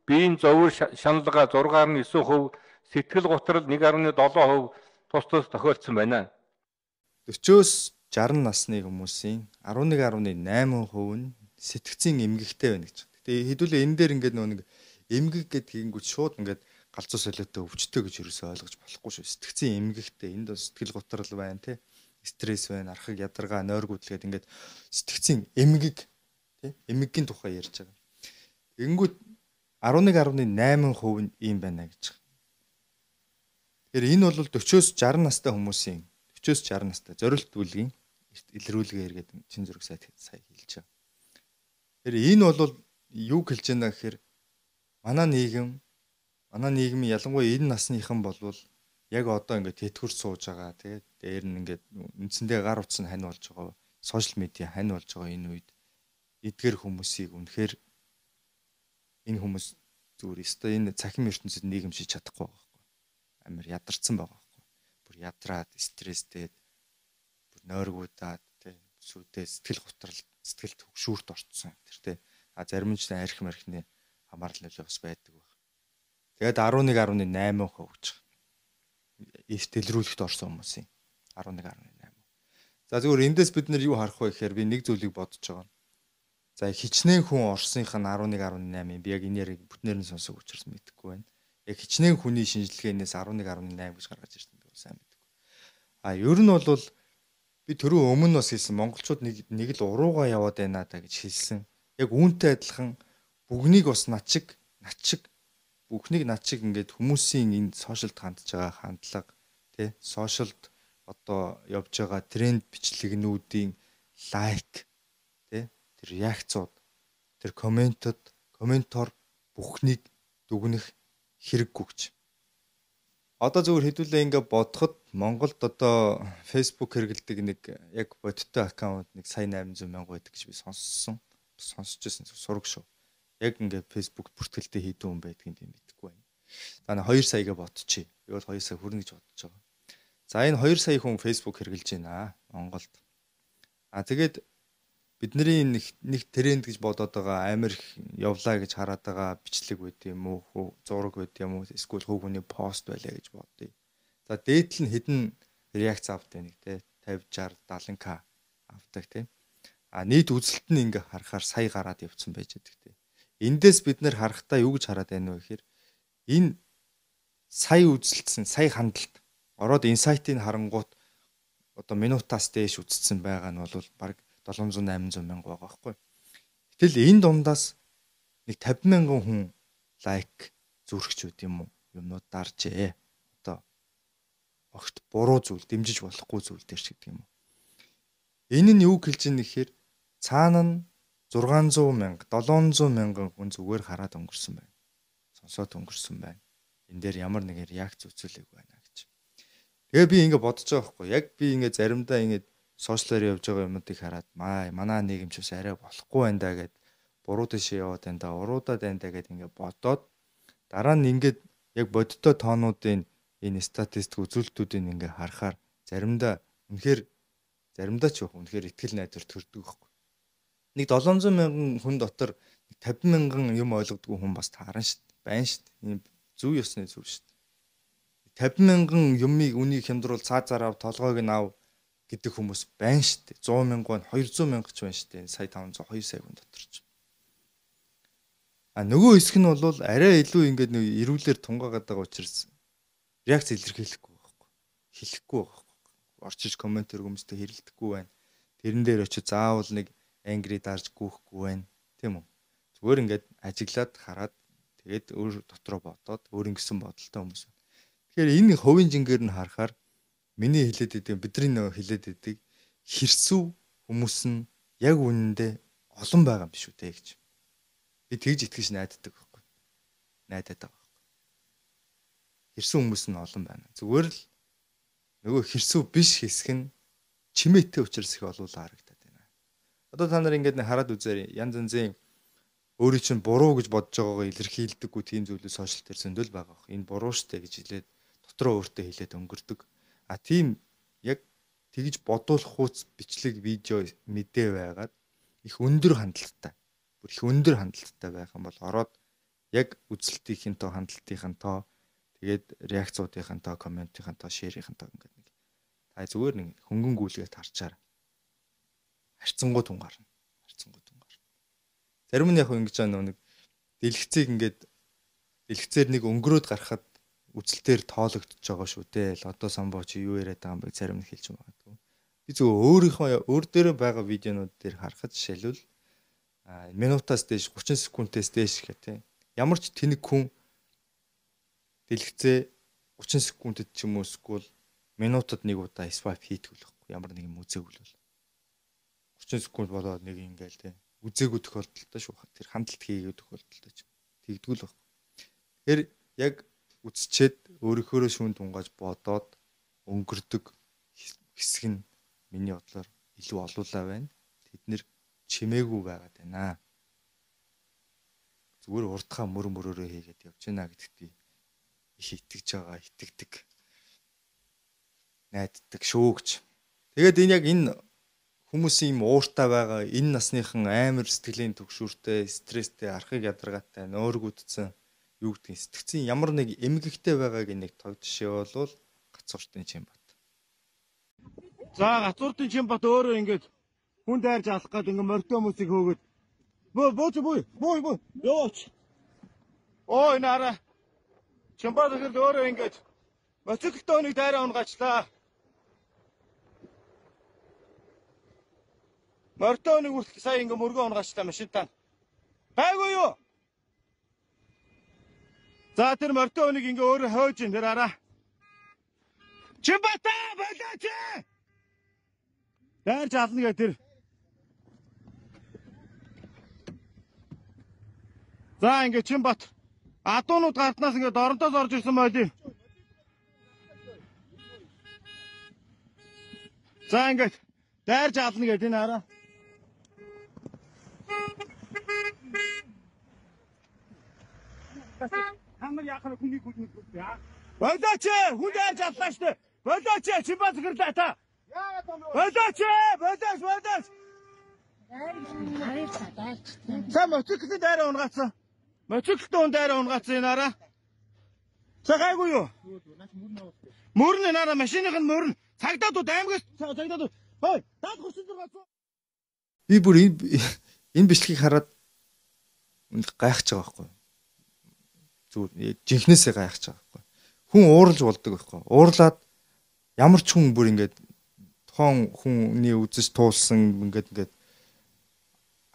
биеийн зовөр шаналга six point nine percent, сэтгэл гутрал one point seven percent тус тус тохиолдсон байна. forty-оос sixty насны хүмүүсийн eleven point eight percent нь сэтгцийн эмгэгтэй байна гэж. Гэтэ хэдүүлээ энэ дээр ингээд нэг эмгэг гэдэг хийнгүүт шууд ингээд галзуу солиотой өвчтөй гэж юусоо ойлгож болохгүй шүү. Сэтгцийн эмгэгтэй энд сэтгэл готрол байна те. Стресс байна, архаг ядаргаа, нойргуудлгээд ингээд сэтгцийн эмгэг те. Эмгэгийн тухай ярьж байгаа. Тэнгүүт eleven point eight percent нь ийм байна гэж. Тэгэхээр энэ бол forty-оос sixty настай хүмүүсийн forty-оос sixty настай зорилт бүлгийн илрүүлгээ эргээд чин зөрөг сайт сая хэлж байгаа. Тэгэхээр энэ бол юу хэлж байна гэхээр манай нийгэм манай нийгмийн ялангуяа энэ насныхан болвол яг одоо ингээд тэтгэврт сууж байгаа тий дээр нь ингээд үндсэндээ гар утас нь хань болж байгаа сошиал медиа хань болж байгаа энэ үед эдгээр хүмүүсийг үнэхээр энэ хүмүүс зүгээр өстой энэ цахим ертөнцид нийгэмшиж чадахгүй байгаа байхгүй амар ядарсан байгаа байхгүй бүр ядраад стресстэй бүр нойргуудаад тий сүрдээ сэтгэл готрол сэтгэл төгшүүрт орцсон тэр тий а зарим нь ч арх мархны хамаарал нөлөө бас байдаг баг. Тэгээд eleven point eight percent гэж байгаа. Эрт илрүүлэхт орсон хүмүүсийн eleven point eight percent. За зүгээр эндээс бид нэр юу харах вэ гэхээр би нэг зүйлийг бодож байгаа. За хичнээн хүн орсных нь eleven point eight percent би яг энэ яриг бүтнээр нь сонсох учраас мэдэхгүй байна. Яг хичнээн хүний шинжилгээнээс eleven point eight гэж гаргаж ирсэн би сайн мэдэхгүй. А ер нь бол би түрүү өмнө бас хэлсэн монголчууд нэг нэг л урууга яваад байна даа гэж хэлсэн. Яг үүнтэй адилхан бүгнийг бас начиг начиг бүхнийг начиг ингээд хүмүүсийн энэ сошиалд хандж байгаа хандлага тий сошиалд одоо явж байгаа тренд бичлэгнүүдийн лайк тий тэр реакцууд тэр комментод комментор бүхнийг дүгнэх хэрэггүй гэж. Одоо зөвхөн хэдүүлээ ингээд бодоход Монголд одоо Facebook хэрэгэлдэг нэг яг бодиттой аккаунт нэг сая eight hundred мянга байдаг гэж би сонссон. Сонсож байсан сураг шүү. Яг ингээд Facebook бүртгэлтэй хийдэн хүн байдгийг тийм мэдэхгүй байна. За нэг two саяга ботчих. Би бол two сая хүрнэ гэж бодож байгаа. За энэ two сая хүн Facebook хэрэглэж байна Монголд. А тэгээд бидний нэг нэг тренд гэж бодоод байгаа амар их явлаа гэж хараад байгаа бичлэг байд юм уу, зураг байд юм уу, эсвэл хөв хүний пост байлаа гэж бодъё. За дээдл нь хэдэн реакц авдаг нэг те fifty, sixty, seventy к авдаг те. А нийт үзэлт нь ингээ харахаар сая гараад явцсан байж байгаа те. Эндээс бид нэр харахтаа юу гэж хараад байна вэ гэхээр энэ сая үзэлтсэн, сая хандлт ороод инсайтыг харангуут одоо минутаас дээш үзсэн байгаа нь бол баг seven hundred eight hundred мянга байгаа байхгүй. Гэтэл энэ дундаас нэг fifty мянган хүн лайк зүрхч үт юм уу? юмнууд даржээ. Одоо огт буруу зүйл, дэмжиж болохгүй зүйл дээр ч гэдэг юм уу. Энэ нь юу хэлж ийн гэхээр цаана нь зургаан зуун мянга, долоон зуун мянган хүн зүгээр хараад өнгөрсөн байна. Сонсоод өнгөрсөн байна. Энэ дээр ямар нэгэн реакц үзүүлэг байна гэж. Тэгээ би ингэ бодож байгаа байхгүй. Яг би ингэ заримдаа ингэ сошиалаар явж байгаа юмнуудыг хараад маа манай нийгэмч бас арай болохгүй байна да гэд буруу дэше яваад байна да, уруудаад байна да гэд ингэ бодоод дараа нь ингэ яг бодиттой тоонуудын энэ статистик үзүүлэлтүүдийг ингэ харахаар заримдаа үнэхээр заримдаа ч яг үнэхээр итгэл найдвар төрдөг байхгүй. Нэг долоон зуун мянган хүн дотор тавин мянган юм ойлгодгүй хүн бас таарна шүү дээ. Байна шүү дээ. Энэ зөв ёсны зөв шүү дээ. тавин мянган юмыг үнийг хямдруул цаа зарав толгойг нь ав гэдэг хүмүүс байна шүү дээ. сто мянган, двести мянга ч байна шүү дээ. Сая таван зуун two сая хүн дотор ч. А нөгөө хэсэг нь бол арай илүү ингээд нэг эрүүлэр тунгаагаад байгаа учраас реакц илэрхийлэхгүй байхгүй. Хэлэхгүй байхгүй. Орчиж комментэр хүмүүстэй хэрэлдэхгүй байна. Тэрэн дээр очиж заавал нэг ангри дарж гүйхгүй байна. Тийм үү? Зүгээр ингээд ажиглаад хараад тэгээд өөр дотроо бодоод өөр ингэсэн бодолтой хүмүүс байна. Тэгэхээр энэ хувийн жингээр нь харахаар миний хэлээд идэг бидний нөгөө хэлээд идэг хэрсүү хүмүүс нь яг үнэндээ олон байгаа юм биш үү те гэж. Би тэгж итгэж найддаг байхгүй. Найдаад байгаа байхгүй. Хэрсүү хүмүүс нь олон байна. Зүгээр л нөгөө хэрсүү биш хэсэг нь чимээтэй учраас их олуулаа харагдаад байна. Одоо та нар ингээд хараад үзээрэй. Янз янзын өөрийн чинь буруу гэж бодож байгаагаа илэрхийлдэггүй тийм зүйлүүд сошиал дээр зөндөл байгаа бох. Энэ буруу штэ гэж хэлээд дотроо өөртөө хэлээд өнгөрдөг. А тийм яг тэгж бодуулах хууц бичлэг видео мэдээ байгаад их өндөр хандлттай. Бүр их өндөр хандлттай байх юм бол ороод яг үзэлтийн тоо, хандлтын тоо, тэгээд реакцуудын тоо, комментийн тоо, шеэрийн тоо ингээд нэг та зүгээр нэг хөнгөн гүйлгээд харчаар харьцангуй тунгарна. Харьцангуй тунгарна. Зарим нь яг ингэж байгаа нэг дэлгэцийг ингээд дэлгэцээр нэг өнгөрөөд гарахад үзэлтээр тоологдож байгаа шүү дээ. Л одоо самбоо чи юу яриад байгаа юм бэ? Зарим нь хэлж магадгүй. Би зөв өөрийнхөө өөр дээр байгаа видеонууд дээр харахад жишээлбэл минутаас дээш thirty секундээс дээш гэх тийм. Ямар ч тэнэг хүн дэлгэцээ thirty секундэд ч юм уу эсвэл минутад нэг удаа свайп хийдэг болохгүй. Ямар нэг юм үзээгүй бол thirty секунд болоод нэг ингээл тийм. Үзээгүй тохиолдолтой шүү. Тэр хандлт хийгээд тохиолдолтой ч тэгдэггүй л байхгүй. Тэгэхээр яг үзчихэд өөрийнхөө шүүн тунгааж бодоод өнгөрдөг хэсэг нь миний бодлоор илүү олуулаа байна. Тэд нэр чимээгүй байгаад байна. Зүгээр урдхаа мөр мөрөөрөө хийгээд явж байна гэдэгт би их итгэж байгаа, итгэдэг. Найддаг шүүгч. Тэгээд энэ яг энэ хүмүүсийн юм ууртай байгаа, энэ насныхан амар сэтгэлийн төгшүүртэй, стресстэй, архыг ядаргаатай, нөөргүүдсэн юу гэдгийг сэтгцийн ямар нэг эмгэгтэй байгааг нэг тог жишээ бол Гацууртын Чимбат. За Гацууртын Чимбат өөрөө ингэж хүн дайрж алах гээд ингэ морьтой хүмүүсийг хөөгөөд бөө бөөч бөө бөө бөө яваач. Ой нара. Чимбат ихэр өөрөө ингэж моциклтой хүнийг дайраа унгачлаа. Морьтой хүнийг үртэл сая ингэ мөргөө унгачлаа машинтаа. Гайгүй юу? За тэр морьтой хүнийг ингээ өөрөө хойж ин тэр араа. Чимбата болооч. Дайрж ална гэ тэр. За ингээ Чимбат адуунууд гартнаас ингээ доронтоос орж ирсэн байли. За ингээ дайрж ална гэ энэ араа. Хамар яхаа хүний хүнийг яа. Болооч хүн дайрж аллаа штэ. Болооч Чимбат гэрлээ та. Яагаад юм бэ? Болооч болооч болооч. Са моциклын дайраа унгаацсан. Моциклын дайраа унгаацсан энэ араа. Цагаагүй юу? Мөрн нара машиных нь мөрн. Цагдаад уу аймагаас цагдаад уу. Хой, даад хурцсан зургаацсан. Би бүр энэ энэ бичлэгийг хараад гайхаж байгаа байхгүй. Зүгээр жинхнээсээ гайхаж байгаа байхгүй. Хүн ууралж болдог байхгүй. Уурлаад ямар ч хүн бүр ингээд тухайн хүний үзэж туулсан ингээд ингээд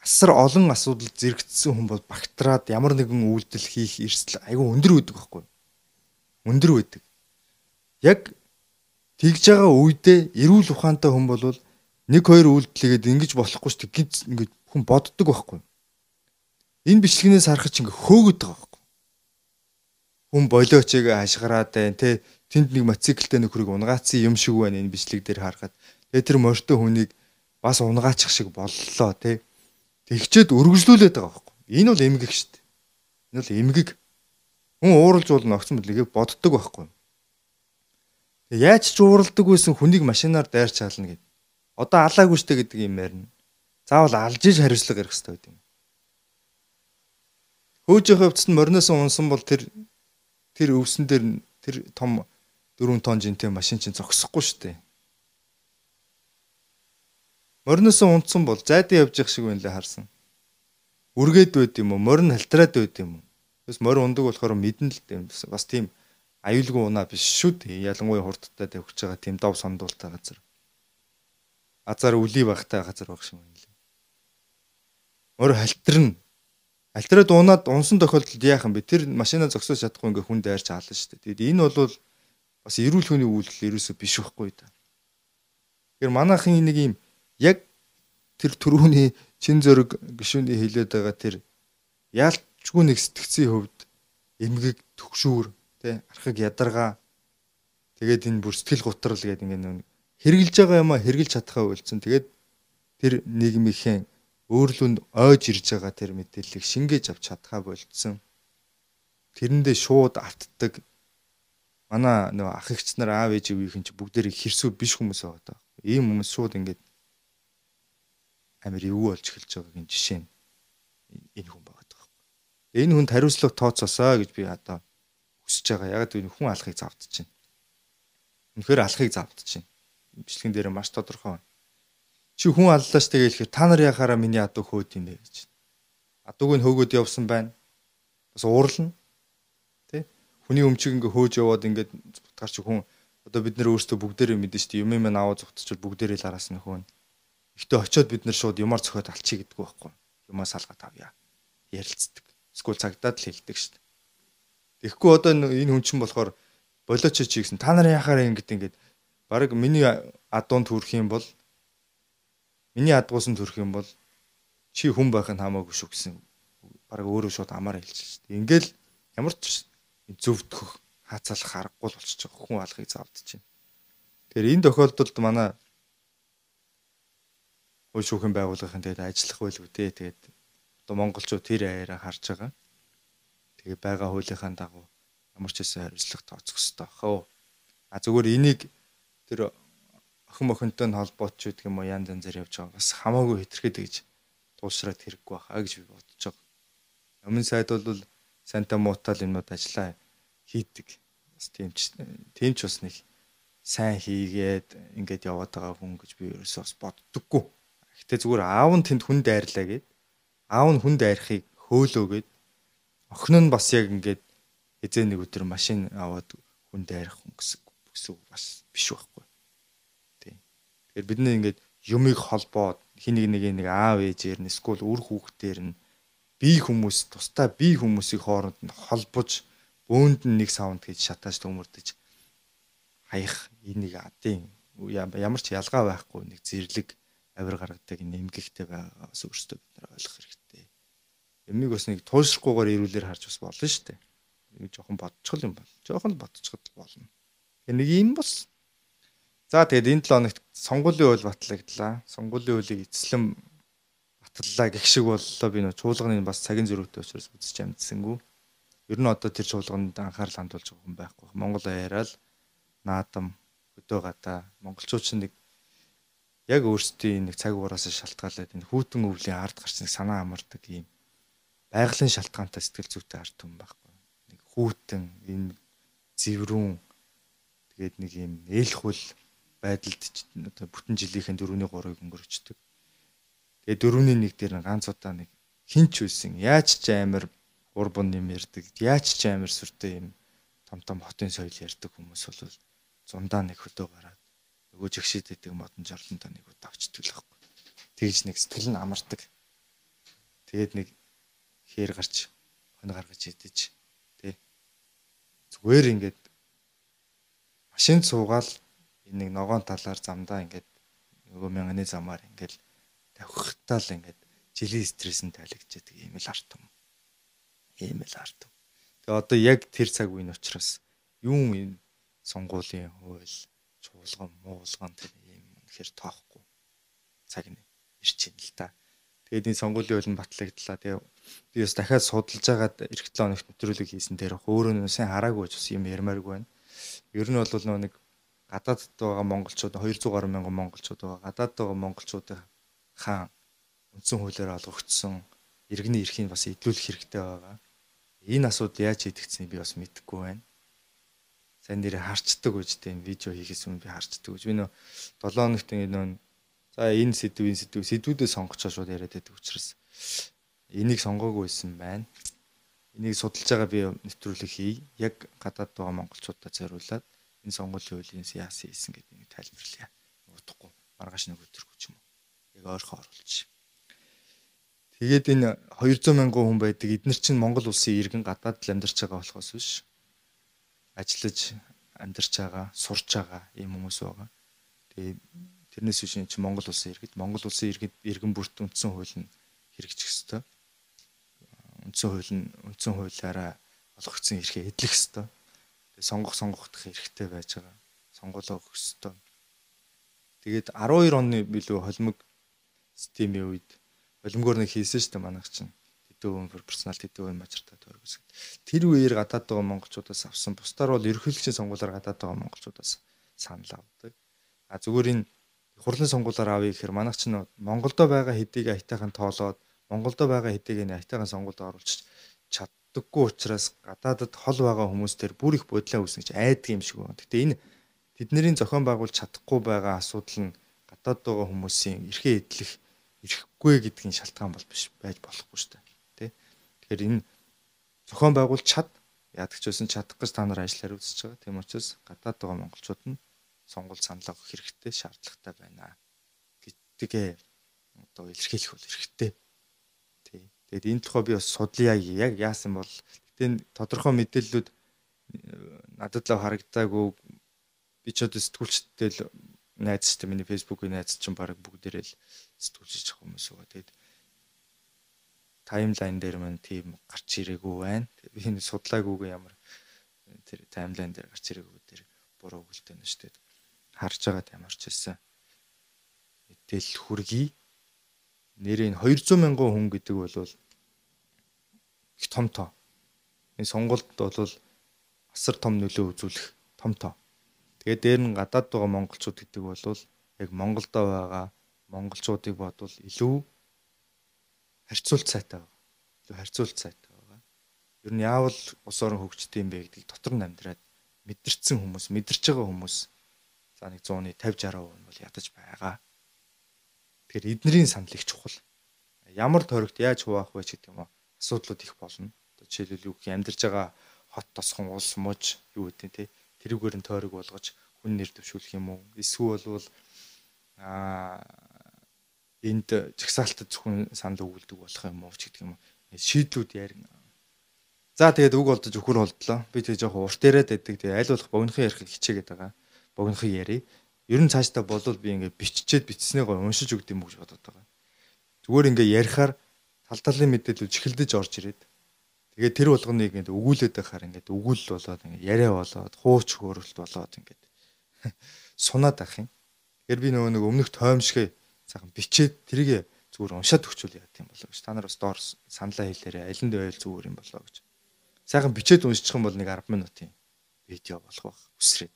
асар олон асуудал зэрэгцсэн хүн бол багтраад ямар нэгэн үйлдэл хийх эрсдэл айгүй өндөр үүдэг байхгүй. өндөр байдаг. Яг тэгж байгаа үедээ эрүүл ухаантай хүн бол нэг хоёр үйлдэлгээд ингэж болохгүй шүү дээ. Гинц ингэж хүн боддог байхгүй. Энэ бичлэгнээс харах чинь ингээ хөөгд байгаа байхгүй. Хүн болоочээг хашгираад байна те. Тэнд нэг мотоциклтэй нөхрийг унгаацсан юм шиг байна энэ бичлэг дээр харахад. Тэгээ тэр морьтой хүнийг бас унгаачих шиг боллоо те. Тэгчээд өргөжлүүлээд байгаа байхгүй. Энэ бол эмгэг шүү дээ. Энэ бол эмгэг. Хүн ууралж болно огцон мэдлэгээ боддог байхгүй. Яаж ч ууралдаг байсан хүнийг машинаар дайрч хаална гэдэг. Одоо алаагүй штэ гэдэг юм ярина. Заавал алж иж хариуцлага гаргах хэрэгтэй байт юм. Хөөжийн хувьд нь морноос унсан бол тэр тэр өвсөн дээр тэр том дөрвөн тонн жинтэй машин чинь зогсохгүй штэ. Морноос унтсан бол зайдаа явж явах шиг байна лээ харсан. Үргээд байд юм уу? Морин халтраад байд юм уу? Бас морь ундаг болохоор мэдэн л дээ. Бас тийм аюулгүй унаа биш шүү дээ. Ялангуяа хурдтай тавьж байгаа тийм дов сондуултай газар. Азар үлий багтай газар баг шиг байна лээ. Морь халтрна. Халтраад унаад унсан тохиолдолд яах юм бэ? Тэр машинаа зогсоож чадахгүй ингээ хүн дайрч хаална шүү дээ. Тэгээд энэ бол бас эрүүл хүний үйлдэл ерөөсөө биш байхгүй да. Тэгэхээр манайхын нэг юм яг тэр түрүүний чин зөрөг гишүүний хэлээд байгаа тэр яалтчгүй нэг сэтгцийн хувьд эмгэг төгшүүр тэ архаг ядаргаа тэгээд энэ бүр сэтгэл гутрал гэдэг ингээ хэрглэж байгаа юм а хэрглэж чадхаа үйлцэн тэгээд тэр нийгмийнхэн өөрлөнд ойж ирж байгаа тэр мэдээллийг шингээж авч чадхаа болцсон. Тэрэндээ шууд автдаг манай нөө ах эгч нар аав ээжийн ч бүгдээрээ хэрсүү биш хүмүүс байгаа. Ийм хүмүүс шууд ингээд амир эвгүй болж эхэлж байгаагийн жишээ нь энэ хүн байгаа даа. Энэ хүнд хариуцлага тооцоосоо гэж би одоо хүсэж байгаа. Яг л хүн алахыг завдчихэв. Үнэхээр алахыг завдчихэв. Бичлэгэн дээр маш тодорхой. Чи хүн аллаа ш тэгээ хэлэхээр та нар яхаараа миний адууг хөөд юм бэ гэж. Адууг нь хөөгөөд явсан байна. Бас уурлна. Тэ? Хүний өмчийг ингээ хөөж яваад ингээд бутгаар чи хүн одоо бид нэр өөрсдөө бүгдээрээ мэдэн ш. Юм юм аваа зүгтчил бүгдээрээ л араас нь хөөн. Ихтэй очиод бид нар шууд юмар цохиод алчий гэдэггүй байхгүй. Юмаа салгаад авъя. Ярилцдаг. Эсвэл цагдаад л хэлдэг ш. Тэгэхгүй одоо энэ хүн чинь болохоор болооч чи гэсэн та нар яхаараа ингэж ингээд баг миний адуунд төрөх юм бол миний адгуусан төрөх юм бол чи хүн байх нь хамаагүй шүү гэсэн. Бараг өөрөө шууд амаар хэлж шүү дээ. Ингээл ямар ч зөвдөх хаацалах аргагүй л болчихж байгаа. Хүн алахыг заавдаж байна. Тэгэхээр энэ тохиолдолд манай хууль шүүхийн байгууллагын тэгээд ажиллах байлгүй дээ. Тэгээд одоо монголчууд тэр аяараа харж байгаа. Тэгээд байгаа хуулийнхаа дагуу ямар ч хэсэг хариуцлага тооцох хэрэгтэй бахаа. А зүгээр энийг тэр охин охинтой нь холбооч гэдэг юм уу янз янзаар явж байгаа. Бас хамаагүй хэтэрхэд гэж туулшраад хэрэггүй бахаа гэж би бодож байгаа. Өмнө сайд бол санта муутал юмнууд ажиллаа хийдэг. Бас тийм ч тийм ч бас нэг сайн хийгээд ингээд яваад байгаа хүн гэж би ерөөсөө бас боддоггүй. Гэтэ зүгээр аав нь тэнд хүн дайрлаа гэд аав нь хүн дайрахыг хөөлөөгээд охин нь бас яг ингээд эзэн нэг өдөр машин аваад хүн дайрах хүн гэсэн бүсүү бас биш байхгүй. Тийм. Тэгэхээр бид нэг ингээд юмыг холбоод хин нэг нэг нэг аав ээжээр нь эсвэл үр хүүхдээр нь бие хүмүүс тусдаа бие хүмүүсийн хооронд нь холбож бөөнд нь нэг саунд гэж шатааж төмөрдөж хаях энийг адын ямар ч ялгаа байхгүй нэг зэрлэг авир гаргадаг нэмгэгтэй байгаагаас өөрсдөө бид нар ойлгох хэрэгтэй. Ямиг бас нэг туйлшрахгүйгээр ирүүлэр харж бас болно шүү дээ. Нэг жоохон бодчихл юм бол. Жоохон л бодчиход болно. Тэгээ нэг юм бас. За тэгээд энэ долоо хоногт сонгуулийн үйл батлагдлаа. Сонгуулийн үйлийг эцэслэн батллаа гэх шиг боллоо. Би нөө чуулганы бас цагийн зөрүүтэй учраас үзэж амжсангүй. Ер нь одоо тэр чуулганд анхаарал хандуулж байгаа хүн байхгүй. Монгол аяараа л наадам хөдөө гадаа монголчууд ч нэг яг өөрсдийн нэг цаг угараас шалтгаалаад энэ хүүтэн өвлийн ард гарч нэг санаа амардаг юм байгалийн шалтгаантай сэтгэл зүйтэй ард хүн байхгүй. Нэг хүүтэн энэ зэврүүн тэгээд нэг юм ээлхүүл байдалд одоо бүтэн жилийнхэн дөрөвний гурыг өнгөрчдөг. Тэгээд дөрөвний нэг дээр ганц удаа нэг хинч үйсэн яаж ч амар урбан юм ярддаг яаж ч амар сүртэй юм том том хотын соёл ярддаг хүмүүс бол зундаа нэг хөдөө гараад нөгөө жигшээд байдаг модон жорлонтой нэг удаа авчдаг л байхгүй. Тэгж нэг сэтгэл нь амардаг. Тэгээд нэг хээр гарч хонь гаргаж идэж тий. Зүгээр ингээд машин суугаал энэ нэг ногоон талаар замдаа ингээд нөгөө мянганы замаар ингээд тавхихтаа л ингээд жилийн стресс нь тайлэгдээд ийм л арт юм. Ийм л арт. Тэгээ одоо яг тэр цаг үеийн учраас юун энэ сонгуулийн хууль, чуулган, муулган тэр ийм үнэхээр тоохгүй цаг нь ирж байна л та. Тэгээд энэ сонгуулийн хууль нь батлагдлаа. Тэгээ би бас дахиад судалж байгаад эх хэдэн хоногт нэвтрүүлэг хийсэн дээр өөрөө нь сайн хараагүй ч бас юм ярмааргүй байна. Ер нь бол нөгөө нэг гадаадд байгаа монголчууд хоёр зуун гаруй мянган монголчууд байгаа. Гадаадд байгаа монголчуудын хаан үндсэн хуулиар олгогдсон иргэний эрхийг бас эдлүүлэх хэрэгтэй байгаа. Энэ асуудал яаж хийгдсэн би бас мэдэхгүй байна. Сайн нэрээ харцдаг үжтэй энэ видео хийхээс өмнө би харцдаг үж. Би нөө долоо хоногт нөө за энэ сэдв энэ сэдв сэдвүүдээ сонгочоо шууд яриад байдаг учраас энийг сонгоогүй байсан байна. Энийг судалж байгаа би нэвтрүүлэг хий. Яг гадаад байгаа монголчуудад зориулаад энэ сонгуулийн хуулийг яасан хийсэн гэдэг нэг тайлбарлая. Удахгүй маргааш нэг өдөргүй ч юм уу. Яг ойрхон оруулчих. Тэгээд энэ хоёр зуун мянган хүн байдаг. Эдгээр чинь Монгол улсын иргэн гадаад л амьдарч байгаа болохоос биш. Ажиллаж амьдарч байгаа, сурч байгаа ийм хүмүүс байгаа. Тэгээд тэрнээс биш чинь Монгол улсын иргэд, Монгол улсын иргэд иргэн бүрт үндсэн хууль нь хэрэгжих ёстой. Үндсэн хууль нь үндсэн хуулиараа олгогдсон эрхээ эдлэх ёстой. Тэгээд сонгох сонгохдох хэрэгтэй байж байгаа. Сонгуулаа өгөх ёстой. Тэгээд арван хоёр оны билүү холимог системийн үед холимогоор нэг хийсэн шүү дээ манайх чинь. Тэдэн хүн персонал тэдэн хүн мажартаа тойргос. Тэр үеэр гадаад байгаа монголчуудаас авсан. Бусдаар бол ерөнхийлөгчийн сонгуулиар гадаад байгаа монголчуудаас санал авдаг. А зүгээр энэ хурлын сонгуулиар авъя гэхээр манайх чинь Монголдо байгаа хэдийг аятайхан тоолоод Монголдо байгаа хэдийг энэ аятайхан сонгуульд оруулж чаддаггүй учраас гадаадд хол байгаа хүмүүс төр бүр их бодлоо үүснэ гэж айдаг юм шиг байна. Гэтэ энэ тэдний зохион байгуулж чадахгүй байгаа асуудал нь гадаад байгаа хүмүүсийн эрхээ эдлэх ирэхгүй гэдгийн шалтгаан бол биш байж болохгүй шүү дээ. Тэ. Тэгэхээр энэ зохион байгуулж чад яадаг ч байсан чадах гэж та нар ажиллаар үзэж байгаа. Тийм учраас гадаад байгаа монголчууд нь сонгуул санал авах хэрэгтэй, шаардлагатай байна гэдгээ одоо илэрхийлэх бол хэрэгтэй. Тий. Тэгээд энэ тухай би бас судлаа яг яасан бол гэтээ тодорхой мэдээллүүд надад л харагдаагүй би ч одоо сэтгүүлчтэй л найз систем миний фэйсбүүкийн найз чинь баг бүгдээрээ л сэтгүүлч хүмүүс байгаа. Тэгээд таймлайн дээр мань тийм гарч ирээгүй байна. Би энэ судлаагүйгээ ямар тэр таймлайн дээр гарч ирээгүй дээр буруу өгөлтэй нь шүү дээ. Харж байгаа ямар ч байсан мэдээлэл хүргэе. Нэрийн хоёр зуун мянган хүн гэдэг бол их том тоо. Энэ сонголт бол асар том нөлөө үзүүлэх том тоо. Тэгээд дээр нь гадаад байгаа монголчууд гэдэг бол яг Монголдо байгаа монголчуудыг бодвол илүү харьцуулт сайтай байгаа. Илүү харьцуулт сайтай байгаа. Ер нь яавал ус орон хөгждөг юм бэ гэдгийг дотор нь амьдраад мэдэрсэн хүмүүс, мэдэрч байгаа хүмүүс за нэг зууны тавьж арав нь бол ядаж байгаа. Тэгэхээр эднэрийн санал их чухал. Ямар тойрогт яаж хуваах вэ гэдэг юм уу? Асуудлууд их болно. Одоо жишээлбэл юу гэх амьдарч байгаа хот тосхон улс мууж юу гэдэг те тэрүүгээр нь тойрог болгож хүн нэр дэвшүүлэх юм уу? Эсвэл бол аа энд жагсаалтад зөвхөн санал өгүүлдэг болох юм уу ч гэдэг юм уу? Шийдлүүд ярина. За тэгээд үг олдож өхөр болдлоо. Би тэг жоох урт яриад байдаг. Тэгээ аль болох богинохон ярих хичээгээд байгаа. Богинохон ярий. Ер нь цаашдаа болвол би ингээ биччихэд бичснээ гоо уншиж өгд юм уу гэж бодоод байгаа. Зүгээр ингээ ярихаар тал талын мэдээлэл чихэлдэж орж ирээд тэгээд тэр болгоныг ингээ өгүүлээд байхаар ингээ өгүүлэл болоод ингээ яриа болоод хууч хөөрөлт болоод ингээ сунаад ах юм. Тэгэхээр би нөгөө нэг өмнөх тоомшгээ сайхан бичээд тэрийг зүгээр уншаад өгчүүл яа гэм болоо гэж. Та нар бас доор саналаа хэлээрэй. Аль нь байл зүгээр юм болоо гэж. Сайхан бичээд уншчих юм бол нэг арван минутын видео болох байх. Үсрээд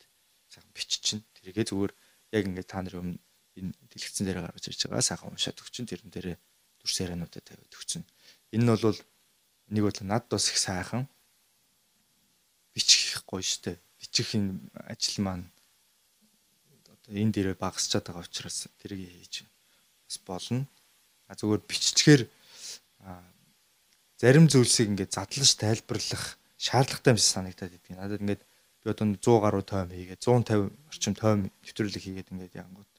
сайхан биччихнэ. Тэрийгээ зүгээр яг ингээд та нарын өмнө энэ дэлгэцэн дээр гаргаж ирж байгаа. Сайхан уншаад өгчин тэрэн дээрээ дүрс яриануудаа тавиад өгчин. Энэ нь бол нэг бол над бас их сайхан бичих гоё штэ. Бичих энэ ажил маань одоо энэ дээрээ багасчаад байгаа учраас тэрийг хийж бас болно. А зүгээр биччихээр зарим зүйлсийг ингээд задлаж тайлбарлах шаардлагатай юм шиг санагдаад идэв. Надад ингээд би одоо зуун гаруй тойм хийгээд зуун тавь орчим тойм нэвтрүүлэг хийгээд ингээд янгууд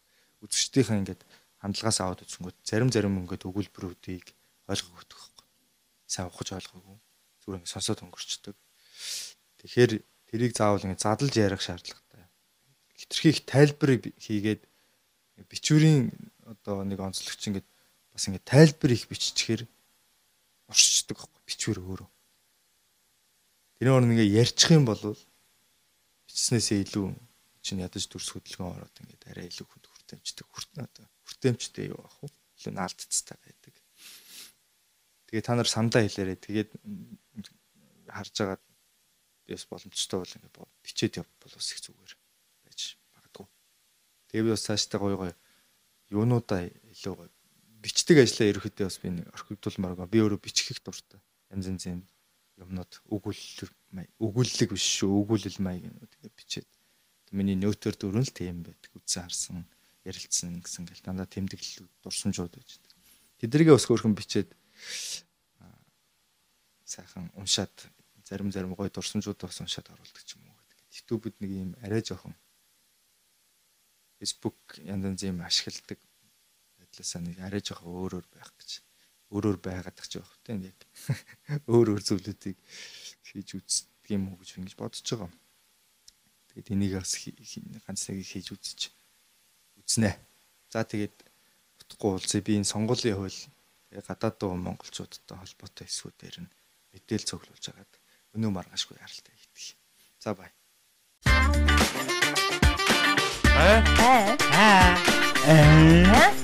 үзэгчдийнхээ ингээд хандлагаас аваад үзэнгүүт зарим зарим ингээд өгүүлбэрүүдийг ойлгох өгдөг байхгүй. Сайн ухаж ойлгоогүй. Зүгээр ингээд сонсоод өнгөрчдөг. Тэгэхээр тэрийг заавал ингээд задлж ярих шаардлагатай хитрхи их тайлбар хийгээд бичвэрийн одоо нэг онцлогч ингээд бас ингээд тайлбар их биччихээр оршичдаг байхгүй бичвэр өөрөө. Тэр нь ингээ ярьчих юм бол бичснээсээ илүү чинь ядаж дүрс хөдөлгөөн ороод ингээд арай илүү хүнд хүртээмжтэй хүртэн одоо хүртээмжтэй юу ах вэ? Илүү наалдцтай байдаг. Тэгээ та нар самдаа хэлээрээ тэгээд харж байгаа бис боломжтой бол ингээд бичээд явбал бас их зүгээр байж магадгүй. Тэгээ би бас цаашдаа гоё гоё юунуудаа илүү гоё бичдэг ажлаа ерөөхдөө бас би орхигдуулмаар би өөрөө бичих их дуртай. Янз янзын юмнууд өгүүлэл өгүүлэлэг биш шүү өгүүлэл маягнууд ингээд бичээд миний нөтөр дөрөн л тийм байдаг. Үзсэн харсан ярилцсан гэсэн гэл дандаа тэмдэглэл дурсамжууд байж байдаг. Тэднийгээ бас хөөрхөн бичээд сайхан уншаад зарим зарим гоё дурсамжууд бас уншаад оруулдаг ч юм уу гэдэг. YouTube-д нэг юм арай жоохон Facebook янз янз юм ашигладаг байдлаасаа нэг арай жоохон өөрөөр байх гэж өөрөөр байгаад тах ч байх тийм яг өөр өөр зүйлүүдийг хийж үздэг юм уу гэж ингэж бодож байгаа. Тэгээд энийг бас ганц нэг хийж үзэж үзнэ. За тэгээд утгагүй уулзъя. Би энэ сонгуулийн хууль тэгээд гадаад дуу монголчуудтай холбоотой эсвүүдээр нь мэдээлэл цуглуулж агаад өнөө маргаашгүй яралтай хийдэг. За бай. Аа аа аа